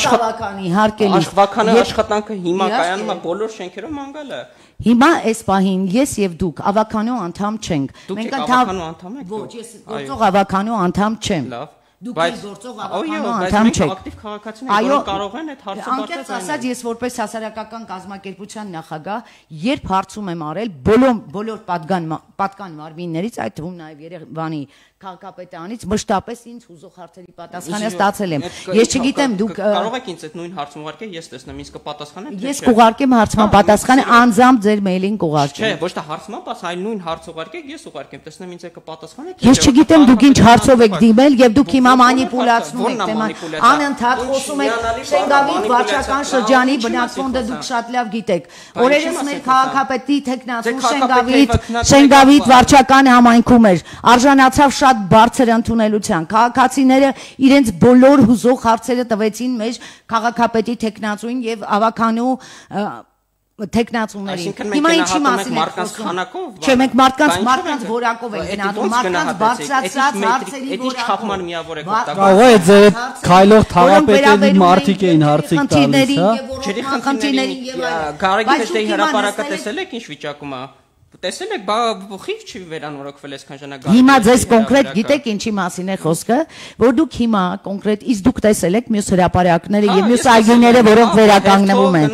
աշխատանքը հիմա կայանում է բոլոր շենքերով մանգալը։ Հիմա այս պահին ես եւ դուք ավականու անդամ չենք։ Մենք ավականու անդամ եք։ Ոչ, ես գործող ավականու անդամ չեմ։ Լավ։ Դուք եք գործող ավականու անդամ չեք։ Ակտիվ քաղաքացիներ, որոնք կարող են այդ հարցը բարձրացնել։ Անկեղծ ասած, ես որպես հասարակական կազմակերպության նախագահ, երբ հարցում եմ արել բոլոր պատկան մարմիններից, այդ թվում նաև Երևանի քաղաքապետարանից մշտապես ինձ հուզող հարցերի պատասխանը ստացել եմ։ Ես չգիտեմ դուք կարող եք ինձ այդ նույն հարցը ուղարկել, ես տեսնեմ ինձ կպատասխանեմ։ Ես կուղարկեմ հարցման պատասխանը անձամբ ձեր մեյլին կուղարկեմ։ Չէ, ոչ թե հարցման պաս, այլ նույն հարց ուղարկեք, ես ուղարկեմ, տեսնեմ ինձ կպատասխանեք։ Ես չգիտեմ դուք ինչ հարցով եք դիմել եւ դուք հիմա մանիպուլացնում եք թեման։ Անընդհատ խոսում եք Շենգավիթ վարչական շրջանի բնակ ֆոնդը դուք շատ լավ գիտեք։ Օրերս մեր քաղաքապետի տեխնացու Շենգավիթ վարչական համայնքում էր։ Արժանացավ շատ բարձր ընդունելության։ Քաղաքացիները իրենց բոլոր հուզող հարցերը տվեցին մեր քաղաքապետի տեխնացուին եւ ավականու տեխնացուներին։ Հիմա ինչի մասին եք խոսում։ Չէ, մենք մարդկանց որակով ենք գնահատում, մարդկանց բարձրացած հարցերի որակով։ Ինչ խափման միավոր եք օգտագործում։ Կարող է ձեր քայլող թաղապետերի մարդիկ էին հարցիկ տալիս, հա։ Ջրի խնդիրներին եւ Գարեգի դեպի հրապարակը տեսել եք ինչ վիճակում է։ Տեսել եք, խիվ չի վերանորոգվել այսքան ժամանակ։ Հիմա ձեզ կոնկրետ գիտեք ինչի մասին է խոսքը, որ դուք հիմա կոնկրետ իսկ դուք տեսել եք մյուս հրապարակները եւ մյուս այգիները, որոնք վերականգնվում են։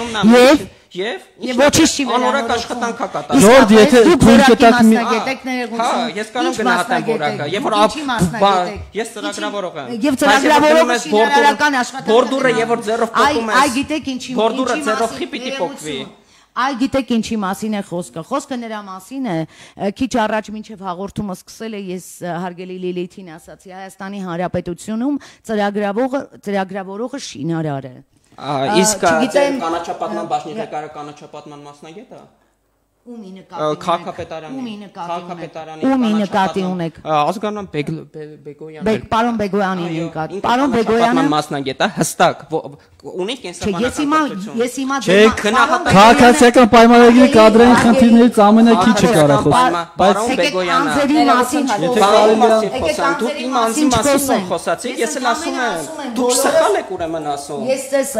Եվ ոչինչ չի անորակ աշխատանքա կատարում։ Ժորժ, եթե դուք որակի մասնագետ եք ներողություն։ Հա, ես կարող գնահատեմ որակը։ Եվ որ ես ծրագրավորող եմ։ Եվ ծրագրավորողը շինարարական աշխատանք։ Բորդուրը եւ որ ձեռով փոխում ես։ Այ գիտեք ինչի։ Բորդուրը ձեռով խի պիտի փոխվի։ Այ գիտեք ինչի մասին է խոսքը։ Խոսքը նրա մասին է, քիչ առաջ մինչև հաղորդումը սկսել է ես հարգելի Լիլիթին ասացի, Հայաստանի Հանրապետությունում ծրագրավորողը շինարար է։ Իսկ կանաչապատման բաժնի ղեկավարը կանաչապատման մասնագետ է։ Ումի նկատի ունեք։ Ազգանան Բեգոյանը։ Պարոն Բեգոյանի նկատի։ Պարոն Բեգոյանը մասնագետ է, հստակ։ Ունի կենսաբանական ես հիմա քաղաքացիական պայմանագրի կադրային խնդիրներից ամենակիչը կարա խոսել, բայց Բեգոյանը դուք իմ անձի մասին խոսացիք, ես էլ ասում եմ, դուք սխալ եք ուրեմն ասում։ Ես ես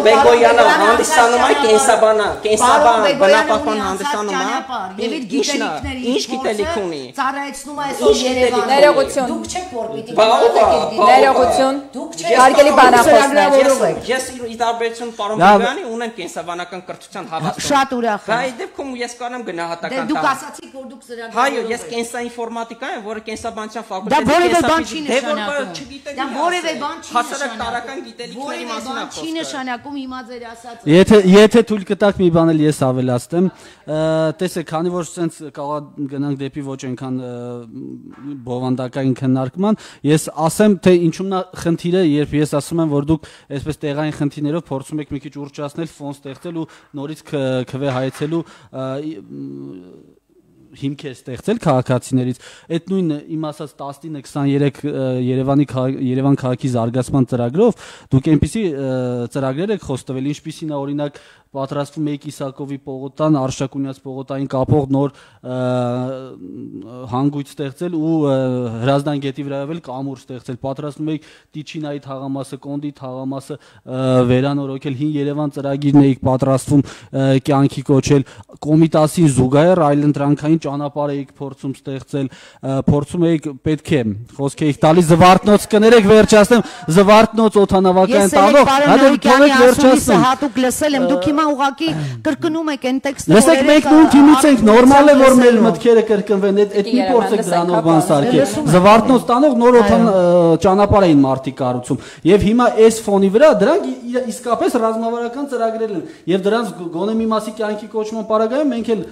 Բեգոյանը հանդիսանում է կենսաբան բնապահպան հանդիսանում է։ Եվ իր գիտելիքների ինչ գիտելիք ունի։ Ծառայեցնում է այսօր Երևանը։ Ներողություն։ Դուք չեք որ պիտի Ներողություն։ Հարգելի բանախոսներ, Ես ի տարբերություն պարոն Բեգոյանի ունեմ կենսաբանական կրթության հավաստում։ Շատ ուրախ եմ։ Դա ի դեպքում ես կարամ գնահատական Դուք ասացիք որ դուք ծրագրավորող Հայո, ես կենսաինֆորմատիկա եմ, որը կենսաբանության Դա որևէ ֆակուլտետի բան չի նշանակում։ հասարակ տարական գիտելիքների մասին է խոսքը։ Որևէ բան չի նշանակում հիմա ձեր ասածը։ Եթե թույլ կտաք մի բան էլ ես ավելացնեմ, տեսեք, քանի որ sense կարող գնանք դեպի ոչ այնքան բովանդակային քննարկման, ես ասեմ, թե ինչու՞մն է խնդիրը, երբ ես ասում եմ, որ դուք այսպես տեղային խնդիրներով փորձում եք մի քիչ ուռճացնել, ֆոն ստեղծել ու նորից քվե հայեցելու հիմքեր ստեղծել քաղաքացիներից, այդ նույն իմ ասած 19-23 Երևան քաղաքի զարգացման ծրագրով դուք այնպիսի ծրագրեր եք խոստվել, ինչպիսին է օրինակ պատրաստվում եք Իսակովի պողոտան, Արշակունյաց պողոտային կապող նոր հանգույց ստեղծել ու Հրազդան գետի վրայով էլ կամուր ստեղծել, պատրաստվում եք Տիչինայի թաղամասը, Կոնդի թաղամասը վերանորոգել, հին Երևան ծրագիրն եք պատրաստվում կյանքի կոչել, Կոմիտասին զուգահեռ այլընտրանքային ճանապարհ եք փորձում ստեղծել, փորձում եք պետք է խոսք եք տալիս Զվարթնոց կներեք վերջացնեմ, Զվարթնոց օթանավակայան տանող, Բեգոյանի ասումիսը հատուկ լսել եմ, դուք հիմա ուղղակի կրկնում եք այն տեքստը, Լսեք, մենք նույն թիմից ենք, նորմալ է որ մեր մտքերը կրկնվեն, այդ մի փորձեք դրանով բան սարքել։ Զվարթնոց տանող նոր ճանապարհ էին մարտի կառուցում, եւ հիմա այս ֆոնի վրա դրանք իսկապես ռազմավարական ծրագրեր են, եւ դրանց գոնե մի մասի կյանքի կոչման պարագայում մենք էլ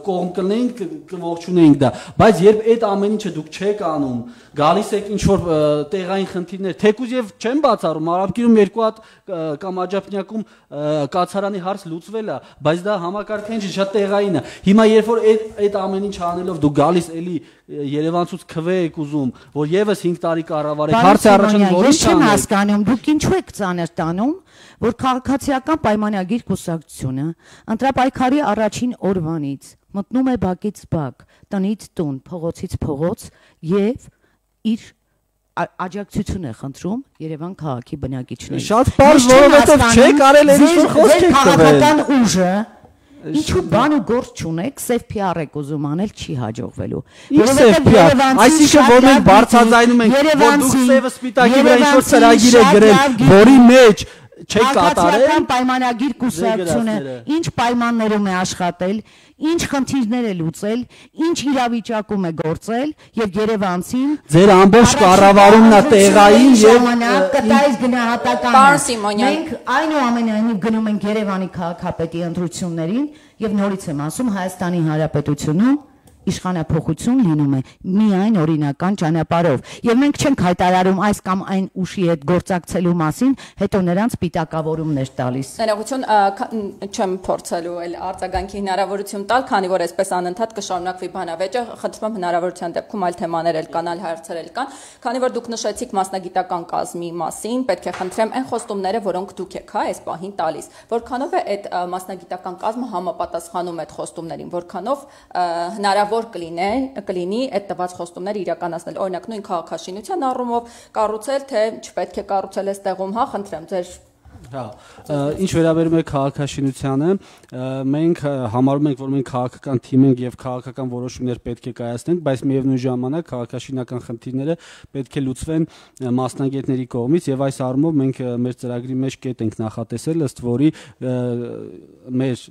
կողմ կլինենք, կողջունենք դա, բայց երբ այդ ամեն ինչը դուք չեք անում, գալիս եք ինչ որ տեղային խնդիրներ, թեկուզ եւ չեմ բացառում, Արաբկիրում երկու հատ կամ Աջափնյակում կացարանի հարց լուծվել է, բայց դա համակարգային չի, շատ տեղային է։ Հիմա երբ որ այդ ամեն ինչ անելով դու գալիս էլի Երևանցուց քվե եք ուզում, որ եւս 5 տարի կառավարեք, հարցը առաջանում որի՞նչ չեմ հասկանում, դուք ինչու եք ծանր տանում, որ քաղաքացիական պայմանագիր կուսակցությունը ընտրապայքարի առաջին օրվանից մտնում է բակից բակ, տնից տուն, փողոցից փողոց եւ իր աջակցություն է խնդրում Երևան քաղաքի բնակիչներից։ Շատ բարձ, որովհետև չեք արել այն ինչ խոսք եք տվել։ Քաղաքական ուժը ինչու բան ու գործ չունեք, սև PR եք ուզում անել, չի հաջողվելու։ Որովհետև այսինքն որ մենք բարձրաձայնում ենք, որ դուք սևը սպիտակի վրա ինչ որ ծրագիր եք գրել, որի մեջ չեք կատարել պայմանագիր կուսակցությունը, ինչ պայմաններում է աշխատել, ինչ խնդիրներ է լուծել, ինչ իրավիճակում է գործել եւ Երևանցին ձեր ամբողջ կառավարումն է տեղային եւ կտայից գնահատական։ Պարոն Սիմոնյան, մենք այնուամենայնիվ գնում ենք Երևանի քաղաքապետի ընտրություններին եւ նորից եմ ասում Հայաստանի Հանրապետությունում իշխանափոխություն լինում է միայն օրինական ճանապարհով եւ մենք չենք հայտարարում այս կամ այն ուժի հետ գործակցելու մասին, հետո նրանց պիտակավորումներ տալիս։ Ներողություն, չեմ փորձելու այլ արձագանքի հնարավորություն տալ, քանի որ այսպես անընդհատ կշարունակվի բանավեճը, խնդրում եմ հնարավորության դեպքում այլ թեմաներ էլ կան, այլ հարցեր էլ կան, քանի որ դուք նշեցիք մասնագիտական կազմի մասին, պետք է խնդրեմ այն խոստումները, որոնք դուք եք այս պահին տալիս, որքանով է այդ մասնագիտական կազմը համապատասխանում այդ խոստումներին, որքանով հնարավոր կլինի այդ տված խոստումները իրականացնել, օրինակ նույն քաղաքաշինության առումով կառուցել, թե չպետք է կառուցել այս տեղում, հա, խնդրեմ ձեր Ինչ վերաբերում է քաղաքաշինությանը, մենք համարում ենք, որ մենք քաղաքական թիմ ենք եւ քաղաքական որոշումներ պետք է կայացնենք, բայց միևնույն ժամանակ քաղաքաշինական խնդիրները պետք է լուծվեն մասնագետների կողմից եւ այս առումով մենք մեր ծրագրի մեջ կետ ենք նախատեսել, ըստ որի մեր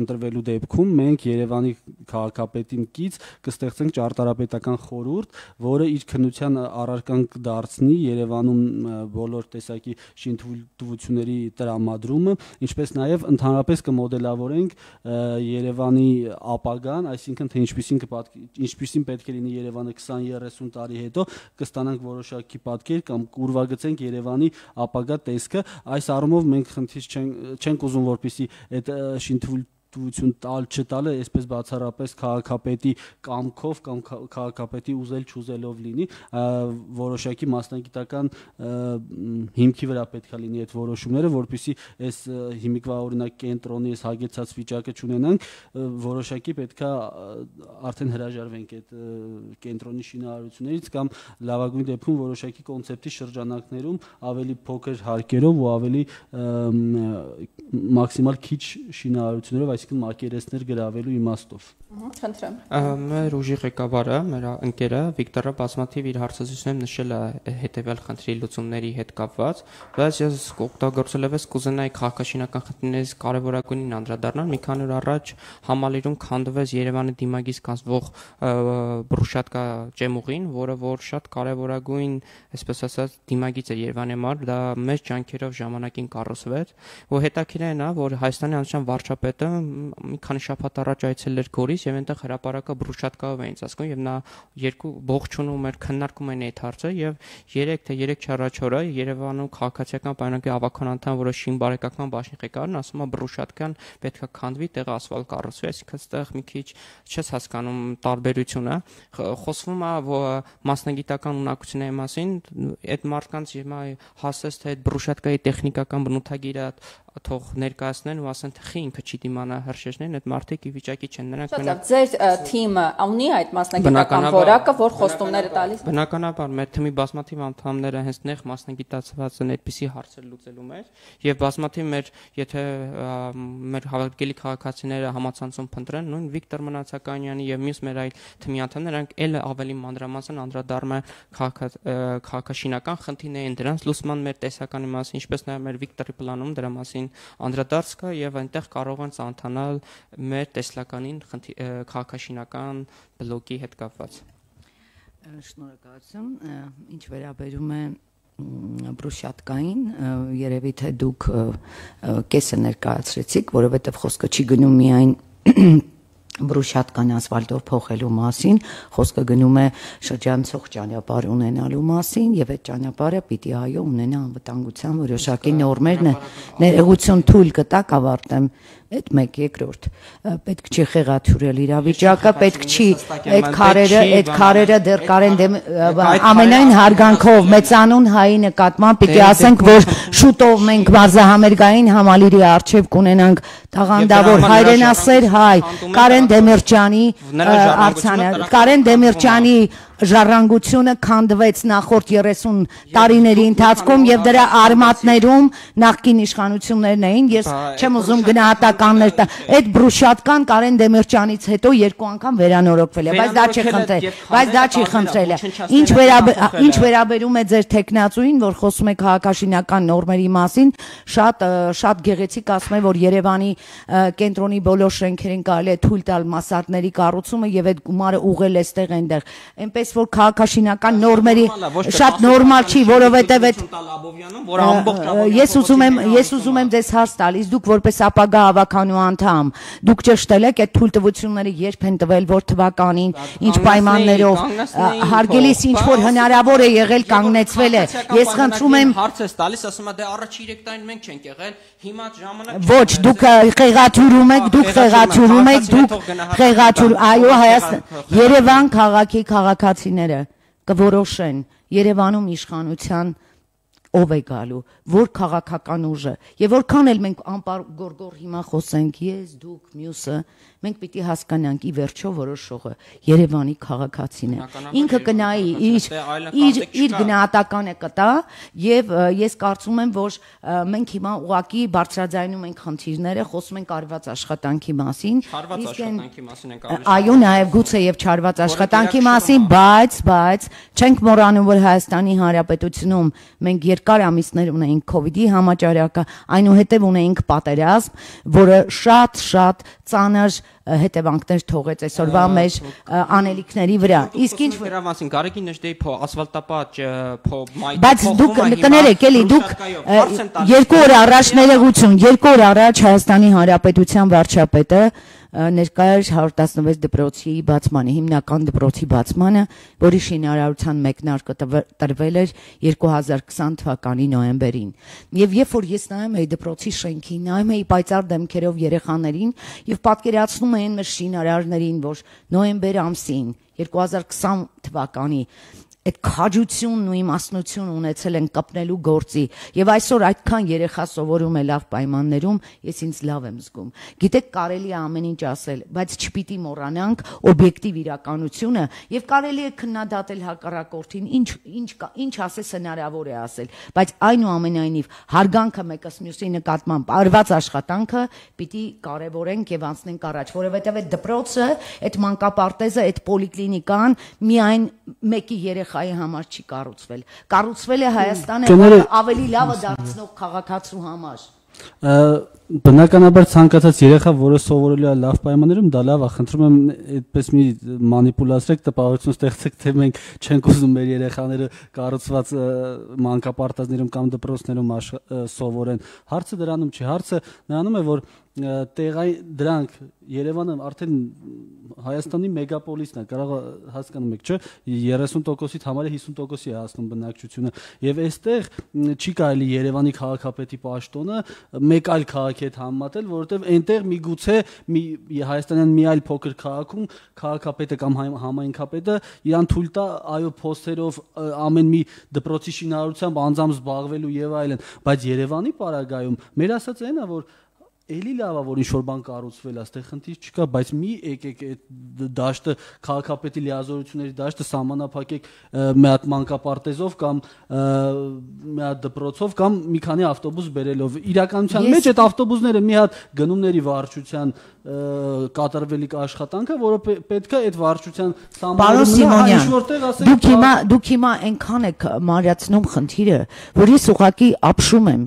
ընտրվելու դեպքում մենք Երևանի քաղաքապետին կից կստեղծենք ճարտարապետական խորհուրդ, որը իր քննության առարկան կդարձնի Երևանում բոլոր տեսակի շինթույլ թույլտվությունների տրամադրումը, ինչպես նաև ընդհանրապես կմոդելավորենք Երևանի ապագան, այսինքն թե ինչպիսին պետք է լինի Երևանը 20-30 տարի հետո, կստանանք որոշակի պատկեր կամ կուրվագծենք Երևանի ապագա տեսքը։ Այս առումով մենք խնդիր չենք ուզում, որպեսզի այդ շինթույլտվություն չտալը այսպես բացառապես քաղաքապետի կամքով կամ քաղաքապետի ուզել-չուզելով լինի, որոշակի մասնագիտական հիմքի վրա պետք է լինի այդ որոշումները, որպեսզի այս հիմիկվա օրինակ կենտրոնի այս հագեցած վիճակը չունենանք, որոշակի պետք է արդեն հրաժարվենք այդ կենտրոնի շինարարություններից կամ լավագույն դեպքում որոշակի կոնցեպտի շրջանակներում ավելի փոքր հարկերով ու ավելի մաքսիմալ քիչ շինարարություններով, այսինքն մակերեսներ գրավելու իմաստով։ Խնդրեմ։ Մեր ուժի ղեկավարը, մեր ընկերը Վիկտորը բազմաթիվ իր հարցազրույցներում նշել է հետևյալ խնդրի լուծումների հետ կապված, բայց ես օգտագործելով կուզենայի քաղաքաշինական խնդիրներից կարևորագույնին անդրադառնալ։ Մի քանի օր առաջ Համալիրում քանդվեց Երևանի դիմագից կազմվող բրուշատկա ջեմուղին, որը որ շատ կարևորագույն, այսպես ասած, դիմագիծ է Երևանի համար, դա մեծ ջանքերով ժամանակին կառուցվեց, ու հետաքրքիր է, որ Հայաստանի հանրության վարչապետը մի քանի շաբաթ առաջ այցելել էր Գորիս եւ այնտեղ հրապարակը բրուշատկայով էին ծածկում եւ նա երկու ողջունում էր, քննարկում էին այդ հարցը եւ 3 թե 3 առաջ օրը Երևանում քաղաքացիական պայմանագրի ավականության անդամ, որը շին բարեկական բաժնի ղեկավարն ասում է բրուշատկան պետքա քանդվի, տեղը ասֆալտ կառուցվի, այսինքն այստեղ մի քիչ չես հասկանում տարբերությունը, խոսվում է մասնագիտական ունակությունների մասին, այդ մարդկանց հիմա հասես թե այդ բրուշատկայի տեխնիկական բնութագիրը թող ներկայացնեն ու ասեն թե խի ինքը չի դիմանա հրշեջներին, այդ մարդիկ ի վիճակի չեն, նրանք մենակ ձեր թիմը ունի այդ մասնագիտական որակը, որ խոստումները տալիս։ Բնականաբար մեր թիմի բազմաթիվ անդամները հենց նեղ մասնագիտացված են այդպիսի հարցեր լուծելու մեջ եւ բազմաթիվ մեր եթե մեր հավաքելի քաղաքացիները համացանցում փնտրեն, նույն Վիկտոր Մնացականյանի եւ մյուս մեր այլ թիմի անդամները նրանք էլ ավելի մանրամասն անդրադառնում են քաղաքաշինական խնդիրներին, դրանց լուսման մեր տեսականի մասին, ինչպես նաեւ մեր Վիկտորի պլանում դրա մասին անդրադարձ կա եւ այնտեղ կարող են ծանոթանալ մեր տեսլականին քաղաքաշինական բլոկի հետ կապված։ Շնորհակալություն, ինչ վերաբերում է բրուշատկային, երևի թե դուք կեսը ներկայացրեցիք, որովհետեւ խոսքը չի գնում միայն բրուշատկան ասֆալտով փոխելու մասին, խոսքը գնում է շրջանցող ճանապարհ ունենալու մասին եւ այդ ճանապարհը պիտի այո ունենա անվտանգության որոշակի նորմեր, ներողություն թույլ կտակ ավարտեմ այդ 1/2 պետք չի խեղաթյուրել իրավիճակը, պետք չի այդ քարերը դեռ կարեն ամենայն հարգանքով մեծանուն հայի նկատմամբ պիտի ասենք, որ շուտով մենք մարզահամերգային համալիրի արչեւ կունենանք տաղանդավոր հայրենասեր հայ Կարեն Դեմիրճյանի ժառանգությունը քանդվեց նախորդ 30 տարիների ընթացքում եւ դրա արմատներում նախկին իշխանություններն էին, ես չեմ ուզում գնահատականներ տալ, այդ բրուշատկան Կարեն Դեմիրճյանից հետո 2 անգամ վերանորոգվել է, բայց դա չի խնդրել, ինչ վերաբերում է ձեր տեխնացուին, որ խոսում է քաղաքաշինական նորմերի մասին, շատ գեղեցիկ ասում է, որ Երևանի կենտրոնի բոլոր շենքերին կարելի է թույլ տալ մասատների կառուցումը եւ այդ գումարը ուղղել էստեղ այնտեղ, այնպես որ քաղաքաշինական նորմերի շատ նորմալ չի, որովհետև ես ուզում եմ ձեզ հարց տալ, իսկ դուք որպես ապագա հավաքանու անդամ, դուք ճշտել եք այդ թույլտվությունները երբ են տվել, որ թվականին, ինչ պայմաններով, հարգելիս ինչ որ հնարավոր է եղել կանգնեցվել է, ես խնդրում եմ հարց ես տալիս, ասում է դե առաջ 3 տարին մենք չենք եղել, հիմա ժամանակ ոչ, դուք խեղաթյուրում եք, այո, Երևան քաղաքի քաղաքացիները կորոշեն Երևանում իշխանության ով է գալու, որ քաղաքական ուժը եւ որքան էլ մենք անպարգորգոր հիմա խոսենք, ես, դուք, մյուսը, մենք պիտի հասկանանք ի վերջո որոշողը Երևանի քաղաքացին է։ Ինքը կնայի իր գնահատականը կտա եւ ես կարծում եմ, որ մենք հիմա ուղակի բարձրաձայնում ենք խնդիրները, խոսում ենք արված աշխատանքի մասին, այո, նաեւ գուցե եւ չարված աշխատանքի մասին, բայց չենք մոռանում, որ Հայաստանի Հանրապետությունում մենք երկար ամիսներ ունեինք COVID-ի համաճարակը, այնուհետև ունեինք պատերազմ, որը շատ ծանր հետևանքներ թողեց այսօրվա մեր անելիքների վրա։ Իսկ ինչ վերավանցին Գարեգի նշդեի փո ասֆալտապատ փո մայթ բայց դուք կներեք էլի դուք 2 օր առաջ ներողություն 2 օր առաջ Հայաստանի Հանրապետության վարչապետը ներկայ էր 116 դպրոցի բացմանը, հիմնական դպրոցի բացմանը, որի շինարարության մեկնարկը տրվել էր 2020 թվականի նոյեմբերին։ Եվ երբ որ ես նայում էի դպրոցի շենքին, նայում էի պայծառ դեմքերով երեխաներին եւ պատկերացնում էին մեր շինարարներին, որ նոյեմբեր ամսին 2020 թվականի այդ քաջությունն ու իմաստնություն ունեցել են կպնելու գործի եւ այսօր այդքան երեխա սովորում է լավ պայմաններում, ես ինձ լավ եմ զգում։ Գիտեք, կարելի է ամեն ինչ ասել, բայց չպիտի մոռանանք օբյեկտիվ իրականությունը եւ կարելի է քննադատել հակառակորդին, ինչ ասես հնարավոր է ասել, բայց այնուամենայնիվ հարգանքը մեկս մյուսի նկատմամբ արված աշխատանքը պիտի կարևորենք եւ անցնենք առաջ, որովհետեւ այդ դպրոցը, այդ մանկապարտեզը, այդ պոլիկլինիկան միայն մեկի երեխայի համար չի կառուցվել։ Կառուցվել է Հայաստանը ավելի լավը դարձնող քաղաքացու համար։ Բնականաբար ցանկացած երեխա, որը սովորելու է լավ պայմաններում, դա լավ է, խնդրում եմ այդպես մի մանիպուլացրեք, տպավորություն ստեղծեք, թե մենք չենք ուզում մեր երեխաները կառուցված մանկապարտեզներում կամ դպրոցներում սովորեն։ Հարցը դրանում չի, հարցը նրանում է, որ դրանք Երևանը արդեն Հայաստանի մեգապոլիսն է, կարող հասկանում եք, չէ՞, 30%-ից համարը 50%-ի է հասնում բնակչությունը, եւ այստեղ չի կարելի Երևանի քաղաքապետի պաշտոնը մեկ այլ քաղաքի հետ համեմատել, որովհետեւ այնտեղ միգուցե Հայաստանյան մի այլ փոքր քաղաքում քաղաքապետը կամ համայնքապետը իրան թույլ տա այո փոստերով ամեն մի դպրոցի շինարարությամբ անձամբ զբաղվելու եւ այլն, բայց Երևանի պարագայում մեր ասած այնա, որ էլի լավ է, որ ինչ-որ բան կառուցվել է, այստեղ խնդիր չկա, բայց մի եկեք այդ դաշտը քաղաքապետի լիազորությունների դաշտը սահմանափակեք մի հատ մանկապարտեզով կամ մի հատ դպրոցով կամ մի քանի ավտոբուս բերելով։ Իրականության մեջ այդ ավտոբուսները մի հատ գնումների վարչության կատարվելիք աշխատանքը, որը պետք է այդ վարչության Սիմոնյան, դուք հիմա այնքան եք մարյացնում խնդիրը, որ ես ուղղակի ապշում եմ։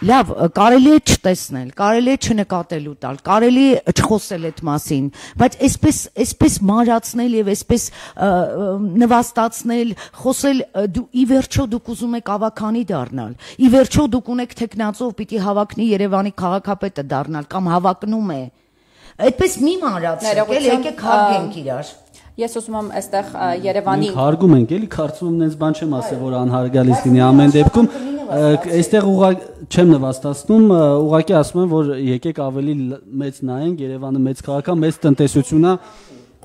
Լավ, կարելի է չտեսնել, կարելի է չնկատելու տալ, կարելի է չխոսել այդ մասին, բայց այսպես մարացնել եւ այսպես նվաստացնել, խոսել, ի վերջո դուք ուզում եք ավականի դառնալ, ի վերջո դուք ունեք թեկնածով պիտի հավակնի Երևանի քաղաքապետը դառնալ կամ հավակնում է։ Այդպես մի մանրացեք, եկեք հարգենք իրար։ Ես ուզում եմ այստեղ Երևանի հարգում ենք, էլի կարծում եմ նենց բան չեմ ասել, որ անհարգալից լինի ամեն դեպքում, այստեղ չեմ նվաստացնում, ուղղակի ասում եմ, որ եկեք ավելի մեծ նայենք, Երևանը մեծ քաղաք է, մեծ տնտեսություն է։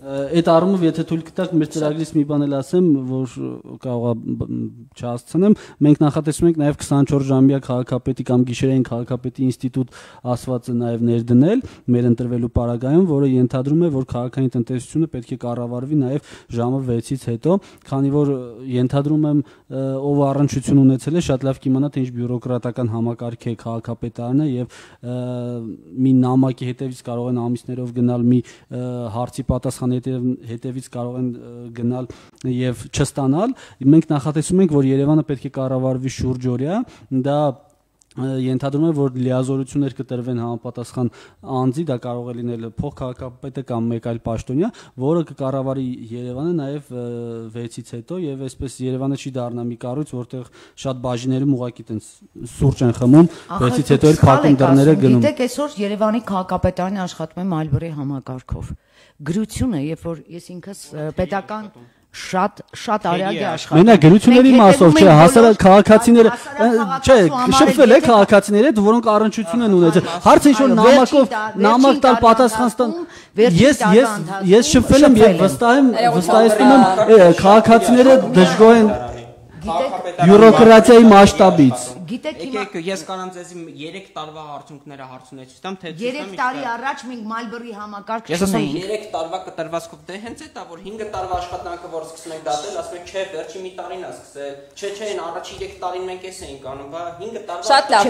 Այդ առումով եթե թույլ կտաք մեր ծրագրից մի բան էլ ասեմ, որ կարող է չհասցնեմ, մենք նախատեսում ենք նաև 24 ժամյա քաղաքապետի կամ գիշերային քաղաքապետի ինստիտուտ ասվածը նաև ներդնել մեր ընտրվելու պարագայում, որը ենթադրում է, որ քաղաքային տնտեսությունը պետք է կառավարվի նաև ժամը 6-ից հետո, քանի որ ենթադրում եմ ով առնչություն ունեցել է, շատ լավ կիմանա, թե ինչ բյուրոկրատական համակարգ է քաղաքապետարանը եւ մի նամակի հետևից կարող են ամիսներով գնալ մի հարցի պատասխան հետևից կարող են գնալ եւ չստանալ։ Մենք նախատեսում ենք, որ Երևանը պետք է կառավարվի շուրջօրյա, դա ենթադրում է, որ լիազորություններ կտրվեն համապատասխան անձի, դա կարող է լինել փոխքաղաքապետը կամ մեկ այլ պաշտոնյա, որը կկառավարի Երևանը նաև 6-ից հետո եւ այսպես Երևանը չի դառնա մի կառույց, որտեղ շատ բաժիներում ուղակի տենց սուրճ են խմում, 6-ից հետո էլ փակում դռները գնում։ Գիտեք, այսօր Երևանի քաղաքապետարանը աշխատում է Մալբորի համակարգով։ Գրությունը, երբ որ ես ինքս պետական շատ արագ է աշխատում։ Մենակ գրությունների մասով չէ, հասարակ քաղաքացիները, չէ, շփվել է քաղաքացիների հետ, որոնք առնչություն են ունեցել։ Հարցը ինչ որ նամակ տալ պատասխան ստան։ Ես շփվել եմ եւ վստահեցնում եմ քաղաքացիները դժգոհ են բյուրոկրատիայի մասշտաբից։ Գիտեք, ես կանեմ ձեզի 3 տարվա արդյունքները հարցունեցի տամ, թե 3 տարի առաջ մենք Մալբորի համակարգ չունեինք։ Ես ասում եմ 3 տարվա կտրվածքով, դե հենց է դա, որ 5 տարվա աշխատանքը, որ սկսում ենք դատել, ասում ենք, չէ, վերջի մի տարին է սկսել։ Չէ, այն առաջի 3 տարին մենք էս էինք անում, բա 5 տարվա։ Շատ լավ,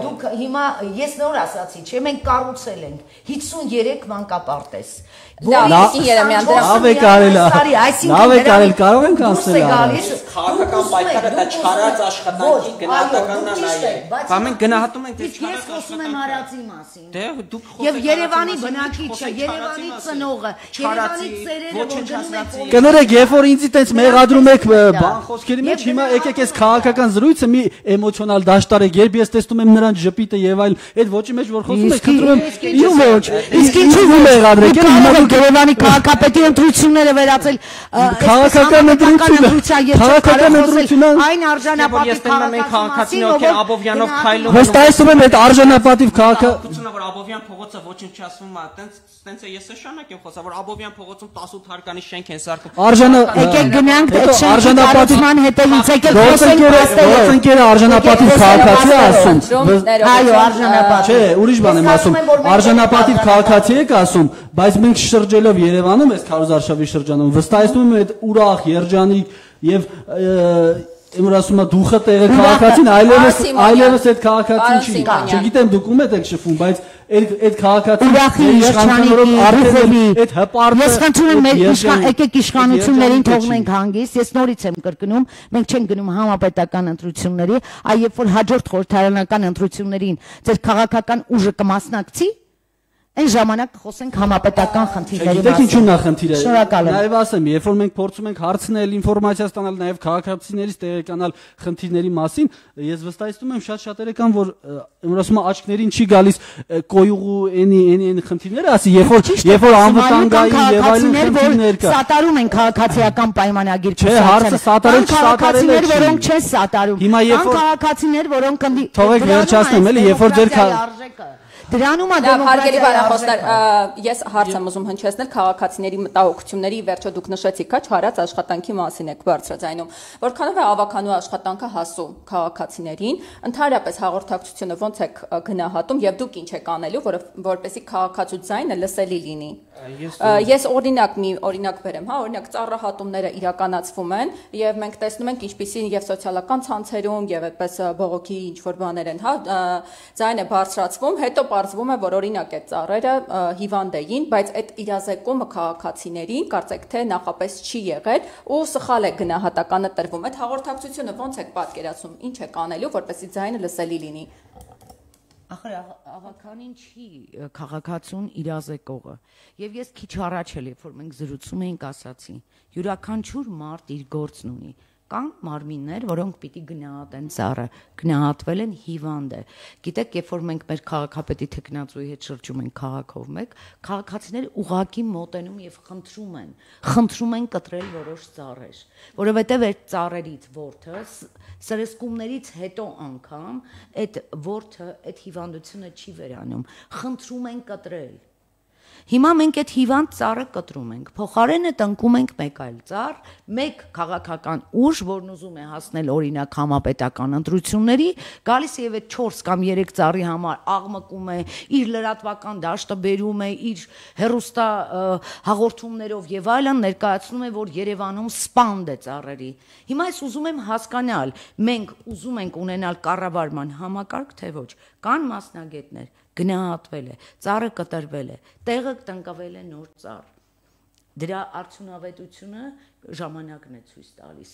դուք հիմա ես նոր ասացի, չէ, մենք կառուցել ենք 53 մանկապարտեզ։ Լավ, Երեմյան, լավ է կարել, լավ է կարել, կարող ենք անցնել։ Քաղաքական պայքարը դա չարած աշխատանքի գնահատական Բա մենք գնահատում ենք Իսկ ես խոսում եմ հարացի մասին։ Դե դուք խոսեք Եվ Երևանի բնակիչը, Երևանի ծնողը, Երևանի ծերերը որ գնում են Կներեք, երբ որ ինձ այդպես մեղադրում եք բան խոսքերի մեջ, հիմա եկեք այս քաղաքական զրույցը մի էմոցիոնալ դաշտարեք, երբ ես տեսնում եմ նրանց ժպիտը եւ այլ, այդ ոչի մեջ որ խոսում եք, խնդրում եմ, իմ ոչ։ Իսկ ինչու մեղադրեք, հիմա դուք Երևանի քաղաքապետի ընտրությունները վերածել քաղաքական ընտրությունը այն արժանապատիվ քաղաքացին ովքեր Աբովյանով քայլում վստահեցնում եմ այդ արժանապատիվ քաղաքացիությունը որ Աբովյան փողոցը ոչնչացվում է, տենց է ես շանակ եմ խոսա որ Աբովյան փողոցում 18 հարկանի շենք են սարքում։ Եկեք գնանք այդ արժանապատիվման հետևից եկեք խոսենք գործընկերը արժանապատիվ քաղաքացի է ասում։ Այո, արժանապատիվ։ Չէ, ուրիշ բան եմ ասում։ Արժանապատիվ քաղաքացի եք ասում, բայց մենք շրջելով Երևանում այս քարոզարշավի շրջանում վստահեցնում եմ այդ ուրախ, երջանիկ եւ Իմր ասում է դուխը տեղը քաղաքացին այլևս այդ քաղաքացին չի։ Չգիտեմ դուք ում եք շփվում, բայց այդ քաղաքացին իշխանություններով արդեն այդ հպարտը Ես խնդրում եմ եկեք իշխանություններին թողնենք հանգիստ։ Ես նորից եմ կրկնում, մենք չենք գնում համապետական ընտրությունների, այլ երբ որ հաջորդ խորհրդարանական ընտրություններին ձեր քաղաքական ուժը կմասնակցի, այն ժամանակ խոսենք համապետական խնդիրների մասին։ Գիտեք ինչու՞ն է խնդիրը։ Շնորհակալ եմ։ Նաև ասեմ, երբ որ մենք փորձում ենք հարցնել, ինֆորմացիա ստանալ նաև քաղաքացիներից տեղեկանալ խնդիրների մասին, ես վստահեցնում եմ շատ-շատերը կան, որ ուրեմն ասում եմ աչքներին չի գալիս կոյուղու այն խնդիրները, ասի, երբ որ անվտանգային եւ այլն խնդիրներ կա։ Սատարում են քաղաքացիական պայմանագիր։ Չէ, հարցը սատարել չսատարել է։ Որոնք չեն սատարում։ Հիմա երբ որ քաղաքացիներ, որոնք թողեք վերջացնեմ, էլի, երբ որ ձեր Դրանում է հարգելի բարախոսներ, ես հարց եմ ուզում հնչեցնել քաղաքացիների մտահոգությունների, վերջո դուք նշեցիք, հա, չարած աշխատանքի մասին եք բարձրաձայնում, որքանով է ավականու աշխատանքը հասու քաղաքացիներին, ընդհանրապես հաղորդակցությունը ոնց եք գնահատում եւ դուք ինչ եք անելու, որպեսզի քաղաքացու ձայնը լսելի լինի։ Ես օրինակ բերեմ, հա, օրինակ ծառահատումները իրականացվում են եւ մենք տեսնում ենք ինչպիսին եւ սոցիալական ցանցերում եւ այդպես բողոքի ինչ որ բաներ են, հա, ձայնը բարձրացվում, հետո պարզվում է, որ օրինակ այդ ծառերը հիվանդ էին, բայց այդ իրազեկումը քաղաքացիներին կարծեք թե նախապես չի եղել ու սխալ է գնահատականը տրվում։ Այդ հաղորդակցությունը ոնց եք պատկերացնում, ինչ եք անելու, որպեսզի ձայնը լսելի լինի։ Ախր ավականին չի քաղաքացուն իրազեկողը։ Եվ ես քիչ առաջ էլ երբ որ մենք զրուցում էինք ասացի, յուրաքանչյուր մարդ իր գործն ունի։ Կան մարմիններ, որոնք պիտի գնահատեն ծառը, գնահատվել են հիվանդ է։ Գիտեք, երբ որ մենք մեր քաղաքապետի թեկնածուի հետ շրջում ենք քաղաքով մեկ, քաղաքացիները ուղակի մոտենում եւ խնդրում են կտրել որոշ ծառեր, որովհետեւ այդ ծառերից որդը սրսկումներից հետո անգամ այդ որդը այդ հիվանդությունը չի վերանում, խնդրում են կտրել։ Հիմա մենք այդ հիվանդ ծառը կտրում ենք, փոխարենը տնկում ենք մեկ այլ ծառ, մեկ քաղաքական ուժ, որն ուզում է հասնել օրինակ համապետական ընտրությունների, գալիս է եւ այդ 4 կամ 3 ծառի համար աղմկում է, իր լրատվական դաշտը բերում է, իր հերոստա հաղորդումներով եւ այլն ներկայացնում է, որ Երևանում սպանդ է ծառերի։ Հիմա ես ուզում եմ հասկանալ, մենք ուզում ենք ունենալ կառավարման համակարգ, թե ոչ, կան մասնագետներ գնահատվել է, ծառը կտրվել է, տեղը տնկվել է նոր ծառ։ Դրա արդյունավետությունը ժամանակն է ցույց տալիս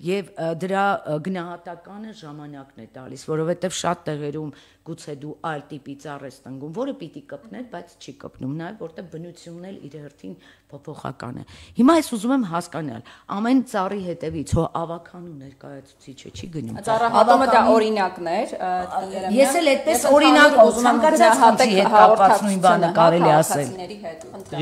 եւ դրա գնահատականը ժամանակն է տալիս, որովհետեւ շատ տեղերում գուցե դու այլ տիպի ծառ ես տնկում, որը պիտի կպներ, բայց չի կպնում, նաեւ որտեղ բնությունն էլ իր հերթին փոփոխական է։ Հիմա ես ուզում եմ հասկանալ, ամեն ծառի հետևից հո ավականու ներկայացուցիչը չի գնում։ Ծառահատումը դա օրինակներ, ես էլ այդպես օրինակ ուզում եմ ցանկացած հետ կապված նույն բանը կարելի ասել։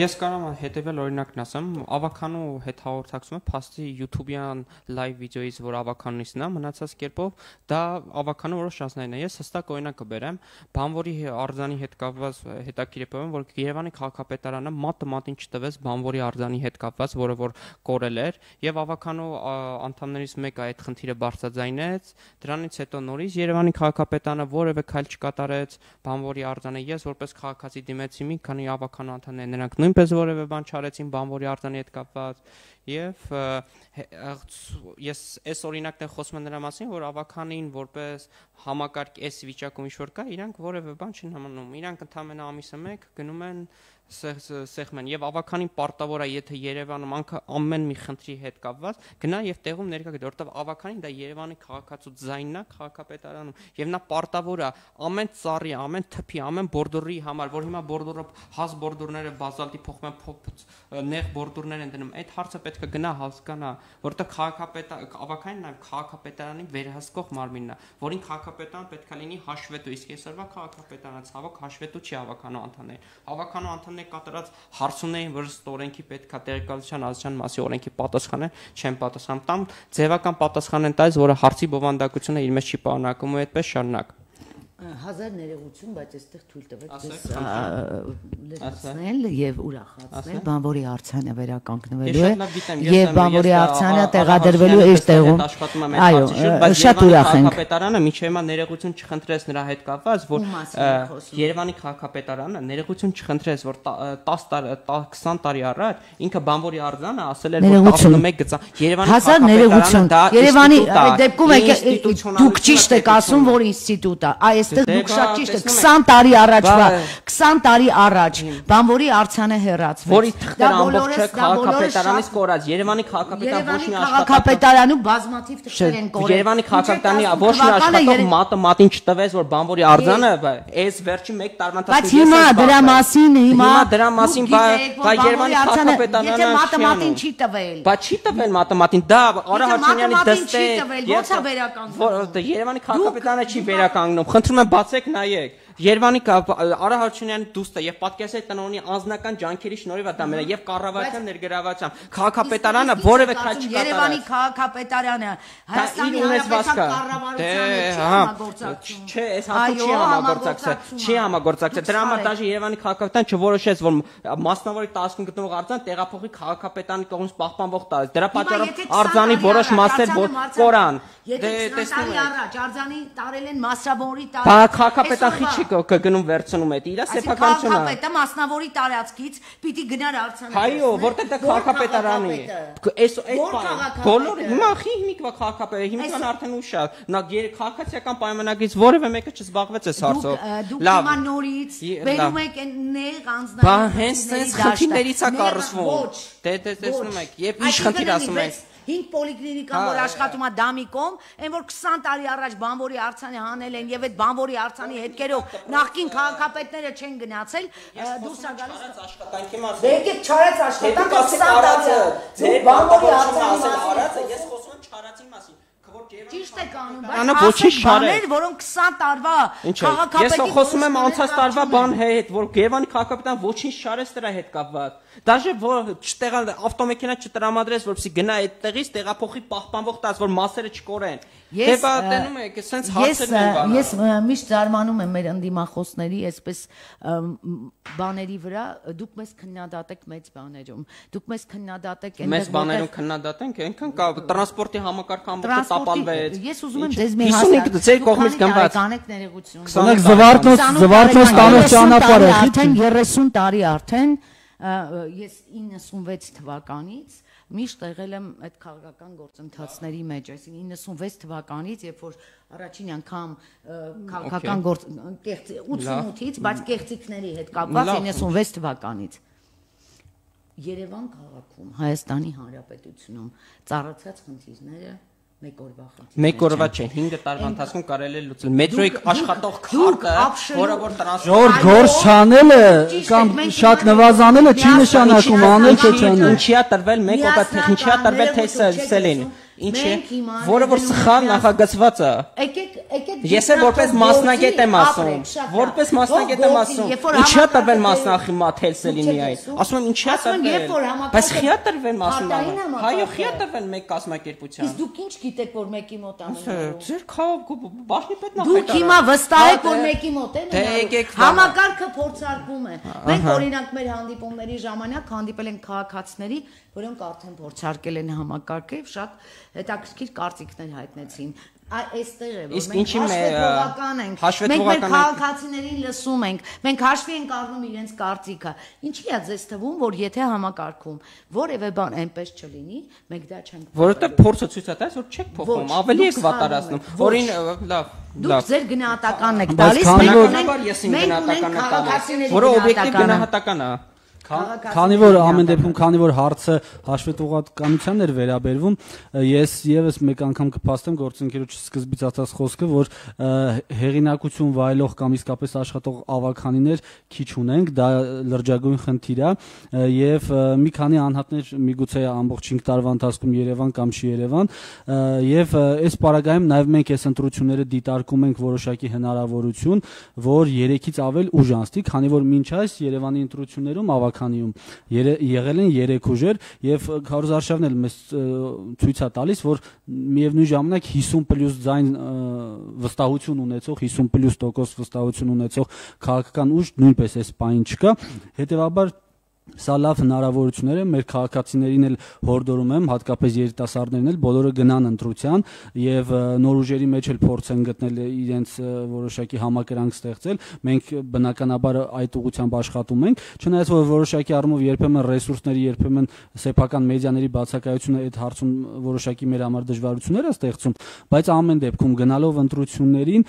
Ես կարող եմ հետևյալ օրինակն ասեմ, ավականու հետ հաղորդակցումը փաստի YouTube-յան լայվ վիդեոից, որ ավականունիցն է, մնացած կերպով դա ավականու որոշ շանսներն է։ Ես հստակ օրինակ կբերեմ, բանվորի արձանի հետ կապված հետաքրքիր է բերեմ, որ Երևանի քաղաքապետարանը մատը մատին չտվեց բանվորի արձանի հետ կապված, որը որ կորել էր, եւ ավականու անդամներից մեկը այդ խնդիրը բարձրաձայնեց, դրանից հետո նորից Երևանի քաղաքապետարանը որևէ քայլ չկատարեց բանվորի արձանը։ Ես որպես քաղաքացի դիմեցի մի քանի ավականու անդամներ, նրանք նույնպես որևէ բան չարեցին բանվորի արձանի հետ կապված եւ ես այս օրինակն խոսում եմ նրա մասին, որ ավականին որպես համակարգ այս վիճակում ինչ որ կա, իրանք որևէ բան չեն համանում, իրանք ընդամենը ամիսը մեկ գնում են սեղմեն եւ ավականին պարտավոր է եթե Երևանը ամեն մի խնդրի հետ կապված գնա եւ տեղում ներկա գտի որովհետեւ ավականին դա Երևանի քաղաքացու ձայնն է քաղաքապետարանում եւ նա պարտավոր է ամեն ծառի, ամեն թփի, ամեն բորդուրի համար որ հիմա բորդուրը հաս բորդուրները բազալտի փոխում են նեղ բորդուրներ են դնում այդ հարցը պետք է գնա հասկանա որովհետեւ ավականին նաեւ քաղաքապետարանի վերահսկող մարմինն է որին քաղաքապետարան պետք է լինի հաշվետու իսկ այսօրվա քաղաքապետարանը ցավոք հաշվետու չի ավականու անդամներ ավականու անդամներ կատարած հարցումներին որ օրենքի պետք է տեղեկատվության ազգային մասի օրենքի պատասխանեն չեն պատասխանում տամ ձևական պատասխան են տալիս որը հարցի բովանդակությունը իր մեջ չի պարունակում ու այդպես շարունակ Հազար ներողություն, բայց այստեղ թույլ տվեք լրացնել եւ ուրախացնել բանվորի արձանը վերականգնվելու է եւ բանվորի արձանը տեղադրվելու է իր տեղում։ Այո, շատ ուրախ ենք։ Քաղաքապետարանը միջև հիմա ներողություն չխնդրեց նրա հետ կապված, որ Երևանի քաղաքապետարանը ներողություն չխնդրեց, որ 20 տարի առաջ ինքը բանվորի արձանը ասել էր որ 11 գծա Երևանի քաղաքապետարանը դա Երևանի դեպքում դուք ճիշտ եք ասում, որ ինստիտուտ է։ Այստեղ դուք շատ ճիշտ եք 20 տարի առաջվա 20 տարի առաջ բանվորի արձանը հեռացվեց որի թղթերը ամբողջը քաղաքապետարանից կորած Երևանի քաղաքապետարան ոչ մի քաղաքապետարանում բազմաթիվ թղթեր են կորել Երևանի քաղաքապետարանի ոչ մի աշխատող մատը մատին չտվեց որ բանվորի արձանը այս վերջի 1 տարվա Բայց հիմա դրա մասին բա Երևանի քաղաքապետարանը եթե մատը մատին չի տվել բա չի տվել մատը մատին դա Արա Հաշիմյանի դստե ո՞նց է վերականգնում Երևանի քաղաքապետարանը չի վերականգնում խնդրում եմ բացեք նայեք Երևանի Արա Հաշիմյանի դուստը եւ պատկերացրեք տնօրենի անձնական ջանքերի շնորհիվ է դա մենը եւ կառավարության ներգրավությամբ քաղաքապետարանը որևէ քաչ չկատարած Երևանի քաղաքապետարանը Հայաստանի Հանրապետության կառավարության Չէ, այս հատուկ չի համագործակցել դրա համար դաժե Երևանի քաղաքապետարանը չորոշեց որ մասնավորի 10 գտնվող արձան տեղափոխի քաղաքապետարանի կողմից պահպանվող տարածք դրա պատճառով արձանի որոշ մասեր կորան Եթե 20 տարի առաջ արձանի տարել են մասնավորի տարածք Բա քաղաքապետարան չի կգնում վերցնում այդ իր սեփականությունը Քաղաքապետը մասնավորի տարածքից պիտի գնար արձանը Այո, որտեղ դա քաղաքապետարանի Այս բոլորը հիմա հիմիկվա քաղաքապետարանը հիմիկվան արդեն ուշ նա քաղաքացիական պայմանագրից որևէ մեկը չզբաղվեց այս հարցով Դուք հիմա նորից բերում եք նեղ անձնական Բա հենց այս խնդիրներից է կառուցվում Դե տեսնում եք եւ ինչ խնդիր ասում եք 5 պոլիկլինիկան որ աշխատում է Դամիկում, այն որ 20 տարի առաջ բանվորի արձանը հանել են եւ այդ բանվորի արձանի հետքերով նախկին քաղաքապետները չեն գնացել, դուրս է գալիս աշխատանքի մասին։ Եկեք չարած աշխատանքը 20 տարի։ Ձեր բանվորի արձանի արածը ես խոսում եմ չարածի մասին։ Ճիշտ եք անում, բայց ոչինչ չարել, որոնք 20 տարվա քաղաքապետի Ես խոսում եմ անցած տարվա բան հետ, որ Երևանի քաղաքապետարան ոչինչ չարեց դրա հետ կապված։ Դաժե որ չտեղալ ավտոմեքենա չտրամադրես, որպեսզի գնա այդտեղից տեղափոխի պահպանվող տած, որ մասերը չկորեն։ Դե բա տենում եք, սենց հարցերն են բանը։ Ես միշտ զարմանում եմ մեր ընդդիմախոսների այսպես բաների վրա, դուք մեզ քննադատեք մեծ բաներում։ Դուք մեզ քննադատեք այնտեղ Մեծ բաներում քննադատենք, այնքան կա տրանսպորտի համակարգը ամբողջը տապալվեց։ Ես ուզում եմ ձեզ մի հասկանալ։ Ձեր կողմից գնված։ Կանեք ներողություն։ Զվարթնոց ճանապարհը արդեն 30 տարի արդեն ես 96 թվականից միշտ եղել եմ այդ քաղաքական գործընթացների մեջ, այսինքն 96 թվականից, երբ որ առաջին անգամ քաղաքական 88-ից, բայց կեղծիքների հետ կապված 96 թվականից Երևան քաղաքում, Հայաստանի Հանրապետությունում ծառացած խնդիրները Մեկ օրվա չէ, 5 տարվա ընթացքում կարելի է լուծել։ Մետրոյի աշխատող քարտը, որը որ Ժոր գործ չանելը կամ շատ նվազանելը չի նշանակում անել թե չանել։ Ինչի է տրվել մեկ օգտատեխնիկի տրվել թե սելին։ Ինչ է, որը որ սխալ նախագծված է։ Ես էլ որպես մասնագետ եմ ասում, որպես մասնագետ եմ ասում։ Ինչի է տրվել մասնախի մաթելսելին միայն։ Ասում եմ ինչի է տրվել։ Բայց խի է տրվել մասնախի։ Հայո խի է տրվել մեկ կազմակերպության։ Իսկ դուք ինչ գիտեք որ մեկի մոտ ամեն Ձեր քաղաք բաժնի պետ Դուք հիմա վստահ եք որ մեկի մոտ են։ Համակարգը փորձարկվում է։ Մենք օրինակ մեր հանդիպումների ժամանակ հանդիպել ենք քաղաքացիների, որոնք արդեն փորձարկել են համակարգը եւ շատ հետաքրքիր կարծիքներ հայտնեցին։ Այստեղ է որ մենք հաշվետվողական ենք։ Մենք մեր քաղաքացիներին լսում ենք։ Մենք հաշվի ենք առնում իրենց կարծիքը։ Ինչի՞ է ձեզ թվում, որ եթե համակարգում որևէ բան այնպես չլինի, մենք դա չենք։ Որովհետեւ փորձը ցույց է տալիս, որ չեք փոխում, ավելի եք վատարացնում։ Որին լավ Դուք ձեր գնահատականն եք տալիս, մենք ունենք գնահատական է տալիս, որը օբյեկտիվ գնահատական է։ Քանի որ ամեն դեպքում, քանի որ հարցը հաշվետվողականությանն էր վերաբերվում, ես եւս մեկ անգամ կփաստեմ գործընկերոջ սկզբից ասած խոսքը, որ հեղինակություն վայելող կամ իսկապես աշխատող ավականիներ քիչ ունենք, դա լրջագույն խնդիր է, եւ մի քանի անհատներ միգուցե ամբողջ 5 տարվա ընթացքում Երևան կամ չի Երևան, եւ այս պարագայում նաեւ մենք այս ընտրությունները դիտարկում ենք որոշակի հնարավորություն, որ 3-ից ավել ուժ անցնի, քանի որ մինչ այս Երևանի ընտրություններում ավականիում եղել են 3 ուժեր եւ քարոզարշավն էլ մեզ ցույց է տալիս, որ միևնույն ժամանակ 50+ ձայն վստահություն ունեցող 50+ վստահություն ունեցող քաղաքական ուժ նույնպես այս պայն չկա, հետեւաբար սա լավ հնարավորություններ է մեր քաղաքացիներին էլ հորդորում եմ, հատկապես երիտասարդներին էլ բոլորը գնան ընտրության եւ նոր ուժերի մեջ էլ փորձեն գտնել իրենց որոշակի համակրանք ստեղծել։ Մենք բնականաբար այդ ուղղությամբ աշխատում ենք, չնայած որ որոշակի առումով երբեմն ռեսուրսների, երբեմն սեփական մեդիաների բացակայությունը այդ հարցում որոշակի մեր համար դժվարություններ է ստեղծում, բայց ամեն դեպքում գնալով ընտրություններին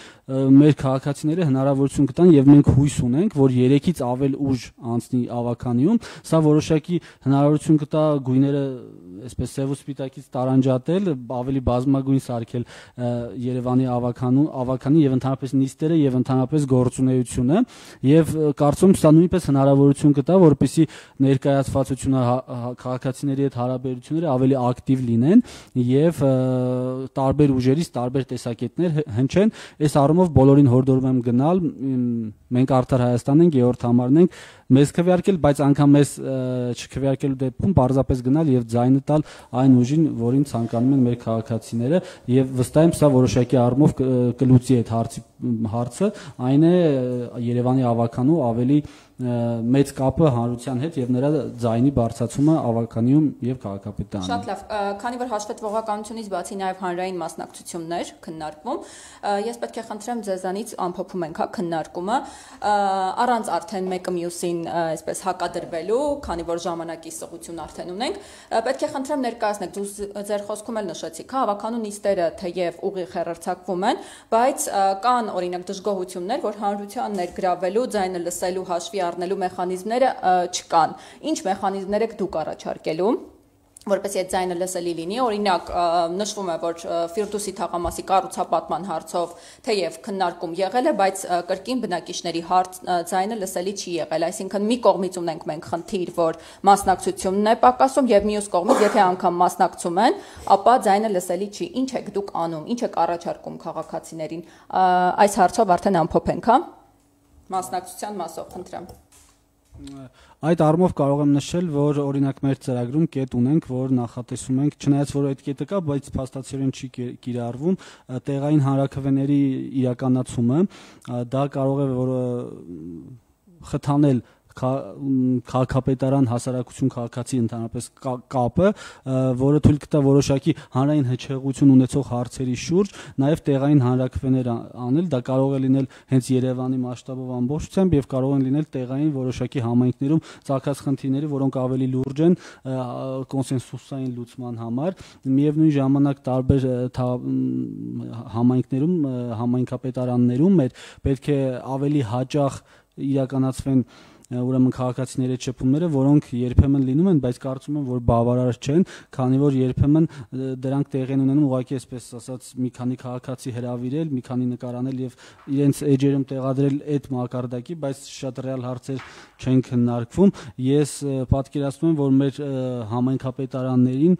մեր քաղաքացիները հնարավորություն կտան եւ մենք հույս ունենք, որ 3-ից ավել ուժ անցնի ավականիում, սա որոշակի հնարավորություն կտա գույները այսպես սև ու սպիտակից տարանջատել, ավելի բազմագույն սարքել Երևանի ավականի եւ ընդհանրապես նիստերը եւ ընդհանրապես գործունեությունը եւ կարծում սա նույնպես հնարավորություն կտա, որպեսզի ներկայացվածությունը քաղաքացիների հետ հարաբերությունները ավելի ակտիվ լինեն եւ տարբեր ուժերից տարբեր տեսակետներ հնչեն։ Այս առումով բոլորին հորդորում եմ գնալ, մենք Արդար Հայաստանն ենք, Գեորգ Համարն ենք, մեզ քվեարկել, բայց անգամ մեզ չքվեարկելու դեպքում պարզապես գնալ եւ ձայնը տալ այն ուժին, որին ցանկանում են մեր քաղաքացիները եւ վստահ եմ սա որոշակի առումով կլուծի այդ հարցը, այն է Երևանի ավականու ավելի մեծ կապը հանրության հետ եւ նրա ձայնի բարձրացումը ավականիում եւ քաղաքապետարանում։ Շատ լավ, քանի որ հաշվետվողականությունից բացի նաեւ հանրային մասնակցություններ քննարկվում, ես պետք է խնդրեմ ձեզանից ամփոփում ենք քննարկումը, առանց արդեն մեկը մյուսին այսպես հակադրվելու, քանի որ ժամանակի սղություն արդեն ունենք, պետք է խնդրեմ ներկայացնեք, դուք ձեր խոսքում էլ նշեցիք, ավականու նիստերը թեև ուղիղ հեռարձակվում են, բայց կան օրինակ դժգոհություններ, որ հանրության ներգրավելու, ձայնը լսելու, հաշվի առնելու մեխանիզմները չկան։ Ինչ մեխանիզմներ եք դուք առաջարկելու, որպեսզի այդ ձայնը լսելի լինի, օրինակ նշվում է, որ Ֆիրդուսի թաղամասի կառուցապատման հարցով թեև քննարկում եղել է, բայց կրկին բնակիչների ձայնը լսելի չի եղել, այսինքն մի կողմից ունենք մենք խնդիր, որ մասնակցությունն է պակասում եւ մյուս կողմից, եթե անգամ մասնակցում են, ապա ձայնը լսելի չի։ Ինչ եք դուք անում, ինչ եք առաջարկում քաղաքացիներին։ Այս հարցով արդեն ամփոփենք, հա։ Մասնակցության մասով խնդրեմ։ Այդ առումով կարող եմ նշել, որ օրինակ մեր ծրագրում կետ ունենք, որ նախատեսում ենք, չնայած որ այդ կետը կա, բայց փաստացիորեն չի կիրառվում, տեղային հանրաքվեների իրականացումը, դա կարող է որ խթանել քաղաքապետարան հասարակություն քաղաքացի ընդհանրապես կապը, որը թույլ կտա որոշակի հանրային հնչեղություն ունեցող հարցերի շուրջ նաև տեղային հանրաքվեներ անել, դա կարող է լինել հենց Երևանի մասշտաբով ամբողջությամբ եւ կարող են լինել տեղային որոշակի համայնքներում ծագած խնդիրների, որոնք ավելի լուրջ են կոնսենսուսային լուծման համար, միևնույն ժամանակ տարբեր համայնքներում, համայնքապետարաններում պետք է ավելի հաճախ իրականացվեն ուրեմն քաղաքացիների շփումները, որոնք երբեմն լինում են, բայց կարծում եմ, որ բավարար չեն, քանի որ երբեմն դրանք տեղի են ունենում ուղղակի այսպես ասած մի քանի քաղաքացի հրավիրել, մի քանի նկարանել եւ իրենց էջերում տեղադրել այդ մակարդակի, բայց շատ ռեալ հարցեր չեն քննարկվում։ Ես պատկերացնում եմ, որ մեր համայնքապետարաններին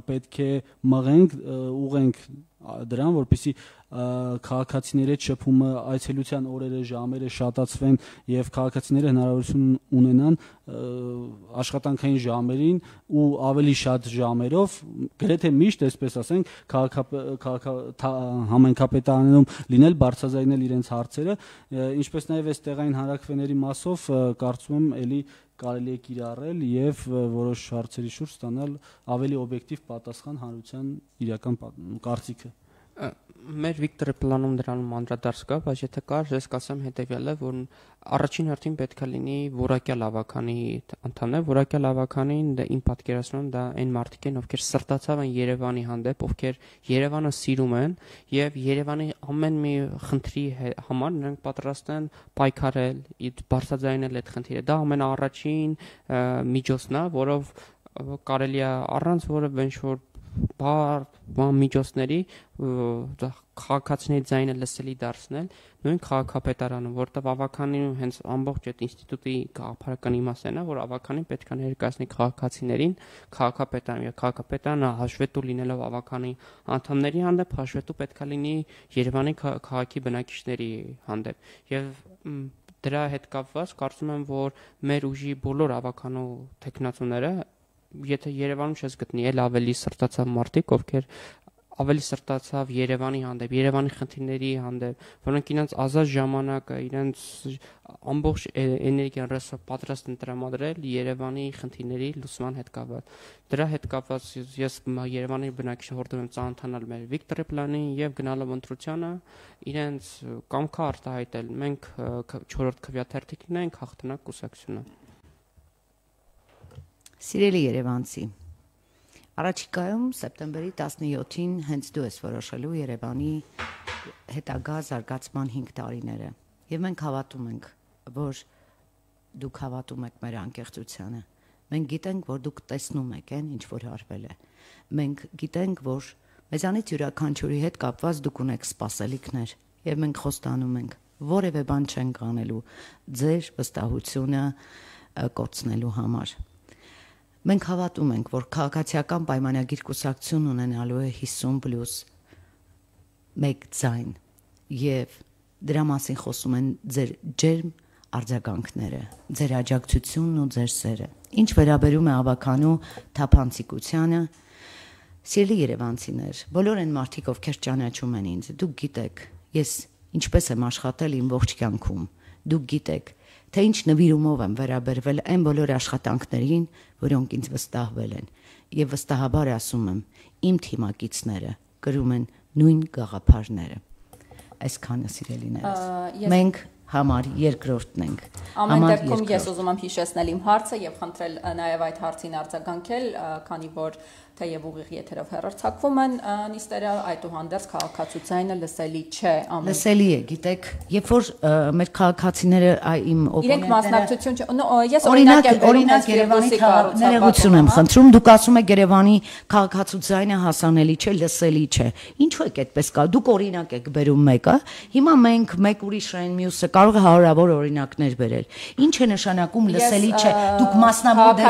պետք է մղենք, ուղենք դրան, որպեսզի քաղաքացիների հետ շփումը այցելության օրերը, ժամերը շատացվեն եւ քաղաքացիները հնարավորություն ունենան աշխատանքային ժամերին ու ավելի շատ ժամերով, գրեթե միշտ, այսպես ասենք, համայնքապետարանում լինել, բարձրաձայնել իրենց հարցերը, ինչպես նաեւ այս տեղային հանրաքվեների մասով կարծում եմ էլի կարելի է կիրառել եւ որոշ հարցերի շուրջ ստանալ ավելի օբյեկտիվ պատասխան հանրության իրական կարծիքը։ Մեր Վիկտորի պլանում դրանում անդրադարձ կա, բայց եթե կար, ես կասեմ հետևյալը, որ առաջին հերթին պետք է լինի որակյալ ավականի անդամներ, որակյալ ավականին իմ պատկերացնում դա այն մարդիկ են, ովքեր սրտացավ են Երևանի հանդեպ, ովքեր Երևանը սիրում են եւ Երևանի ամեն մի խնդրի համար նրանք պատրաստ են պայքարել, բարձրաձայնել այդ խնդիրը։ Դա ամենաառաջին միջոցն է, որով կարելի է առանց որևէ ինչ-որ միջոցների քաղաքացիների ձայնը լսելի դարձնել նույն քաղաքապետարանը, որտեղ ավականին հենց ամբողջ այդ ինստիտուտի գաղափարական իմաստն է, որ ավականին պետք է ներկայացնի քաղաքացիներին քաղաքապետարան, եւ քաղաքապետարանը հաշվետու լինելով ավականի անդամների հանդեպ հաշվետու պետք է լինի Երևանի քաղաքի բնակիչների հանդեպ եւ դրա հետ կապված կարծում եմ, որ մեր ուժի բոլոր ավականու տեխնացուները եթե Երևանում չես գտնի էլ ավելի սրտացավ մարդիկ, ովքեր ավելի սրտացավ Երևանի հանդեպ, Երևանի խնդիրների հանդեպ, որոնք իրենց ազատ ժամանակը, իրենց ամբողջ էներգիան ռեսուրսը պատրաստ են տրամադրել Երևանի խնդիրների լուծման հետ կապված։ Դրա հետ կապված ես Երևանի բնակիչներին հորդորում եմ ծանոթանալ մեր Վիկտորի պլանին եւ գնալով ընտրությանը իրենց կամքը արտահայտել։ Մենք 4-րդ քվեաթերթիկն ենք, հաղթանակ կուսակցությունը։ Սիրելի երևանցի, առաջիկայում սեպտեմբերի 17-ին հենց դու ես որոշելու Երևանի հետագա զարգացման 5 տարիները եւ մենք հավատում ենք, որ դուք հավատում եք մեր անկեղծությանը։ Մենք գիտենք, որ դուք տեսնում եք այն, ինչ որ արվել է։ Մենք գիտենք, որ մեզանից յուրաքանչյուրի հետ կապված դուք ունեք սպասելիքներ եւ մենք խոստանում ենք, որևէ բան չենք անելու ձեր վստահությունը կորցնելու համար։ Մենք հավատում ենք, որ քաղաքացիական պայմանագիր կուսակցություն ունենալու է 50+1 ձայն եւ դրա մասին խոսում են ձեր ջերմ արձագանքները, ձեր աջակցությունն ու ձեր սերը։ Ինչ վերաբերում է ավականու թափանցիկությանը, սիրելի երևանցիներ, բոլոր այն մարդիկ, ովքեր ճանաչում են ինձ, դուք գիտեք, ես ինչպես եմ աշխատել իմ ողջ կյանքում, դուք գիտեք, թե ինչ նվիրումով եմ վերաբերվել այն բոլոր աշխատանքներին, որոնք ինձ վստահվել են, եւ վստահաբար ասում եմ, իմ թիմակիցները կրում են նույն գաղափարները։ Այսքանը սիրելիներս։ Մենք համար երկրորդն ենք։ Ամեն դեպքում ես ուզում եմ հիշեցնել իմ հարցը եւ խնդրել նաեւ այդ հարցին արձագանքել, քանի որ թեև ուղիղ եթերով հեռարձակվում են նիստերը, այդուհանդերձ քաղաքացիությունը լսելի չէ ամեն։ Լսելի է, գիտեք, երբ որ մեր քաղաքացիները իմ իրենք մասնակցություն ես օրինակ Երևանի ներողություն եմ խնդրում, դուք ասում եք Երևանի քաղաքացիությունը հասանելի չէ, լսելի չէ։ Ինչու եք այդպես կա։ Դուք օրինակ եք բերում մեկը, հիմա մենք մեկ ուրիշ այն մյուսը կարող է հարյուրավոր օրինակներ բերել։ Ինչ է նշանակում լսելի չէ։ Դուք մասնավոր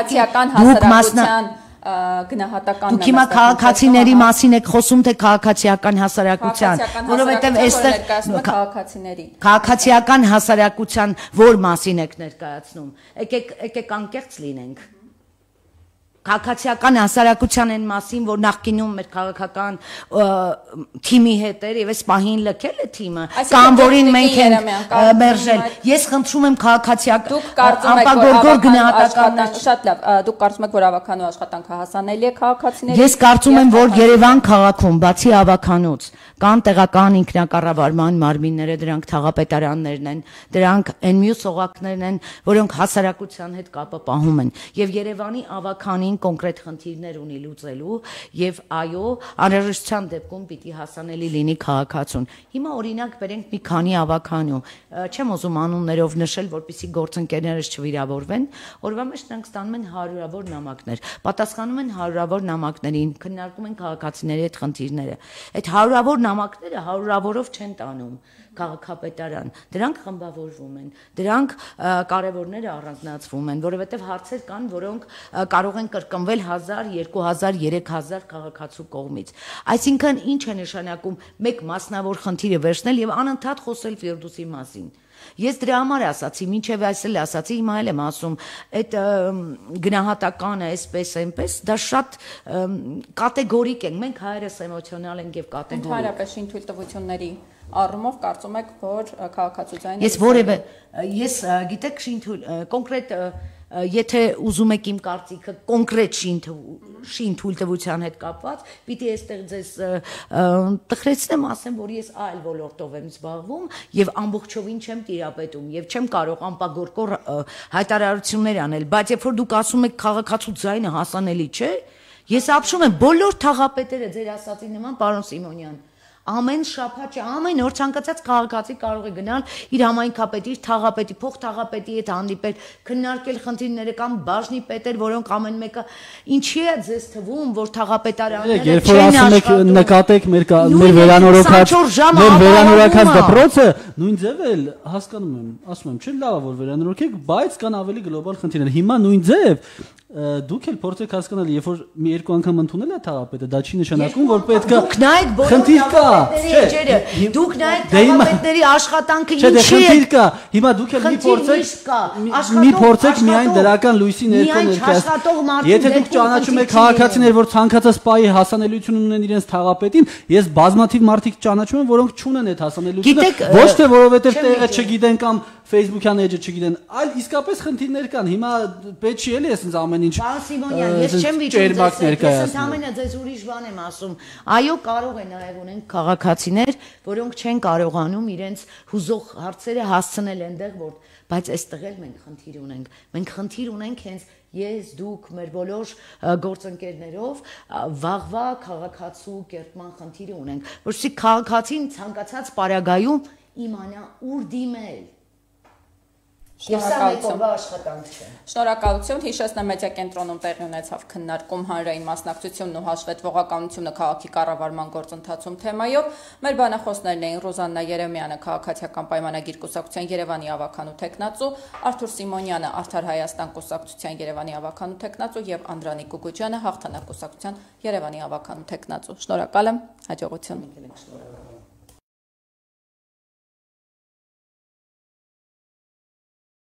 հասարակության գնահատականն դուք հիմա քաղաքացիների մասին եք խոսում, թե քաղաքացիական հասարակության, որովհետև այստեղ քաղաքացիական հասարակության որ մասին եք ներկայացնում։ Եկեք անկեղծ լինենք։ Քաղաքացիական հասարակության այն մասին, որ նախկինում մեր քաղաքական թիմի հետ էր եւ այս պահին լքել է թիմը, կամ որին մենք ենք մերժել։ Ես խնդրում եմ քաղաքացիական ապագորգոր գնահատականներ։ Շատ լավ, դուք կարծում եք, որ ավականու աշխատանքը հասանելի է քաղաքացիներին։ Ես կարծում եմ, որ Երևան քաղաքում, բացի ավականուց, կան տեղական ինքնակառավարման մարմինները, դրանք թաղապետարաններն են, դրանք այն մյուս օղակներն են, որոնք հասարակության հետ կապը պահում են, եւ Երևանի ավականին կոնկրետ խնդիրներ ունի լուծելու եւ այո, անհրաժեշտության դեպքում պիտի հասանելի լինի քաղաքացուն։ Հիմա օրինակ բերենք մի քանի ավականու, չեմ ուզում անուններով նշել, որպեսզի գործընկերներս չվիրավորվեն, օրվա մեջ նրանք ստանում են հարյուրավոր նամակներ, պատասխանում են հարյուրավոր նամակներին, քննարկում են քաղաքացիների հետ խնդիրները։ Այդ հարյուրավոր նամակները հարյուրավորով չեն տանում քաղաքապետարան, դրանք խմբավորվում են, դրանք կարևորները առանձնացվում են, որովհետև հարցեր կան, որոնք կարող են կրկնվել 1000, 2000, 3000 քաղաքացու կողմից։ Այսինքն ինչ է նշանակում մեկ մասնավոր խնդիրը վերցնել եւ անընդհատ խոսել Ֆիրդուսի մասին։ Ես դրա համար ասացի, մինչև այս էլ ասացի, հիմա էլ եմ ասում, այդ գնահատականը այսպես այնպես, դա շատ կատեգորիկ են, մենք հայերս էմոցիոնալ ենք եւ կատեգորիկ։ Ընդհանրապես ինտուիտիվությունների առումով կարծում եք, որ քաղաքացիության ես գիտեք կոնկրետ եթե ուզում եք իմ կարծիքը կոնկրետ շին թույլտվության հետ կապված, պիտի այստեղ ձեզ տխրեցնեմ, ասեմ, որ ես այլ ոլորտով եմ զբաղվում եւ ամբողջովին չեմ տիրապետում եւ չեմ կարող անպագորկոր հայտարարություններ անել, բայց երբ որ դուք ասում եք քաղաքացու ձայնը հասանելի չէ, ես ապշում եմ բոլոր թաղապետերը ձեր ասածի նման, պարոն Սիմոնյան, ամեն շաբաթ, ամեն օր ցանկացած քաղաքացի կարող է գնալ իր համայնքապետի, իր թաղապետի, փոխթաղապետի հետ հանդիպել, քննարկել խնդիրները կամ բաժնի պետեր, որոնք ամեն մեկը ինչի է ձեզ թվում, որ թաղապետարանները չեն աշխատում։ Նկատեք մեր վերանորոգած դպրոցը, նույն ձև էլ հասկանում եմ, ասում եմ, չէ՞ լավ է որ վերանորոգեք, բայց կան ավելի գլոբալ խնդիրներ։ Հիմա նույն ձև դուք էլ փորձեք հասկանալ, երբ որ մի երկու անգամ ընդունել է թաղապետը, դա չի նշանակում, որ պետք է խնդիր կա, չէ։ Դուք նայեք թաղապետների աշխատանքը ինչի է։ Խնդիր կա։ Հիմա դուք էլ մի փորձեք միայն դրական լույսի ներքո ներկայացնել։ Եթե դուք ճանաչում եք քաղաքացիներ, որ ցանկացած պահի հասանելիություն ունեն իրենց թաղապետին, ես բազմաթիվ մարդիկ ճանաչում եմ, որոնք չունեն այդ հասանելիությունը, ոչ թե որովհետև տեղը չգիտեն կամ Facebook-յան էջը չգիտեն, այլ իսկապես խնդիրներ կան։ Հիմա պետք չի էլի այսպես ամեն ինչ։ Պարոն Սիմոնյան, ես չեմ վիճում ես ընդհանրապես ձեզ ուրիշ բան եմ ասում։ Այո, կարող է նաև ունեն քաղաքացիներ, որոնք չեն կարողանում իրենց հուզող հարցերը հասցնել այնտեղ, որ բայց այստեղ էլ մենք խնդիր ունենք։ Մենք խնդիր ունենք հենց ես, դուք, մեր բոլոր գործընկերներով վաղվա քաղաքացու կերտման խնդիր ունենք, որովհետեւ քաղաքացին ցանկացած պարագայում իմանա ուր դիմել։ Եվ սա մեկ օրվա աշխատանք չէ։ Շնորհակալություն, հիշեցնեմ մեդիա կենտրոնում տեղի ունեցավ քննարկում հանրային մասնակցությունն ու հաշվետվողականությունը քաղաքի կառավարման գործընթացում թեմայով։ Մեր բանախոսներն էին Ռոզաննա Երեմյանը, քաղաքացիական պայմանագիր կուսակցության Երևանի ավականու տեխնացու, Արթուր Սիմոնյանը, Արդար Հայաստան կուսակցության Երևանի ավականու տեխնացու եւ Անդրանիկ Գուգուջյանը, Հաղթանակ կուսակցության Երևանի ավականու տեխնացու։ Շնորհակալ եմ, հաջողություն։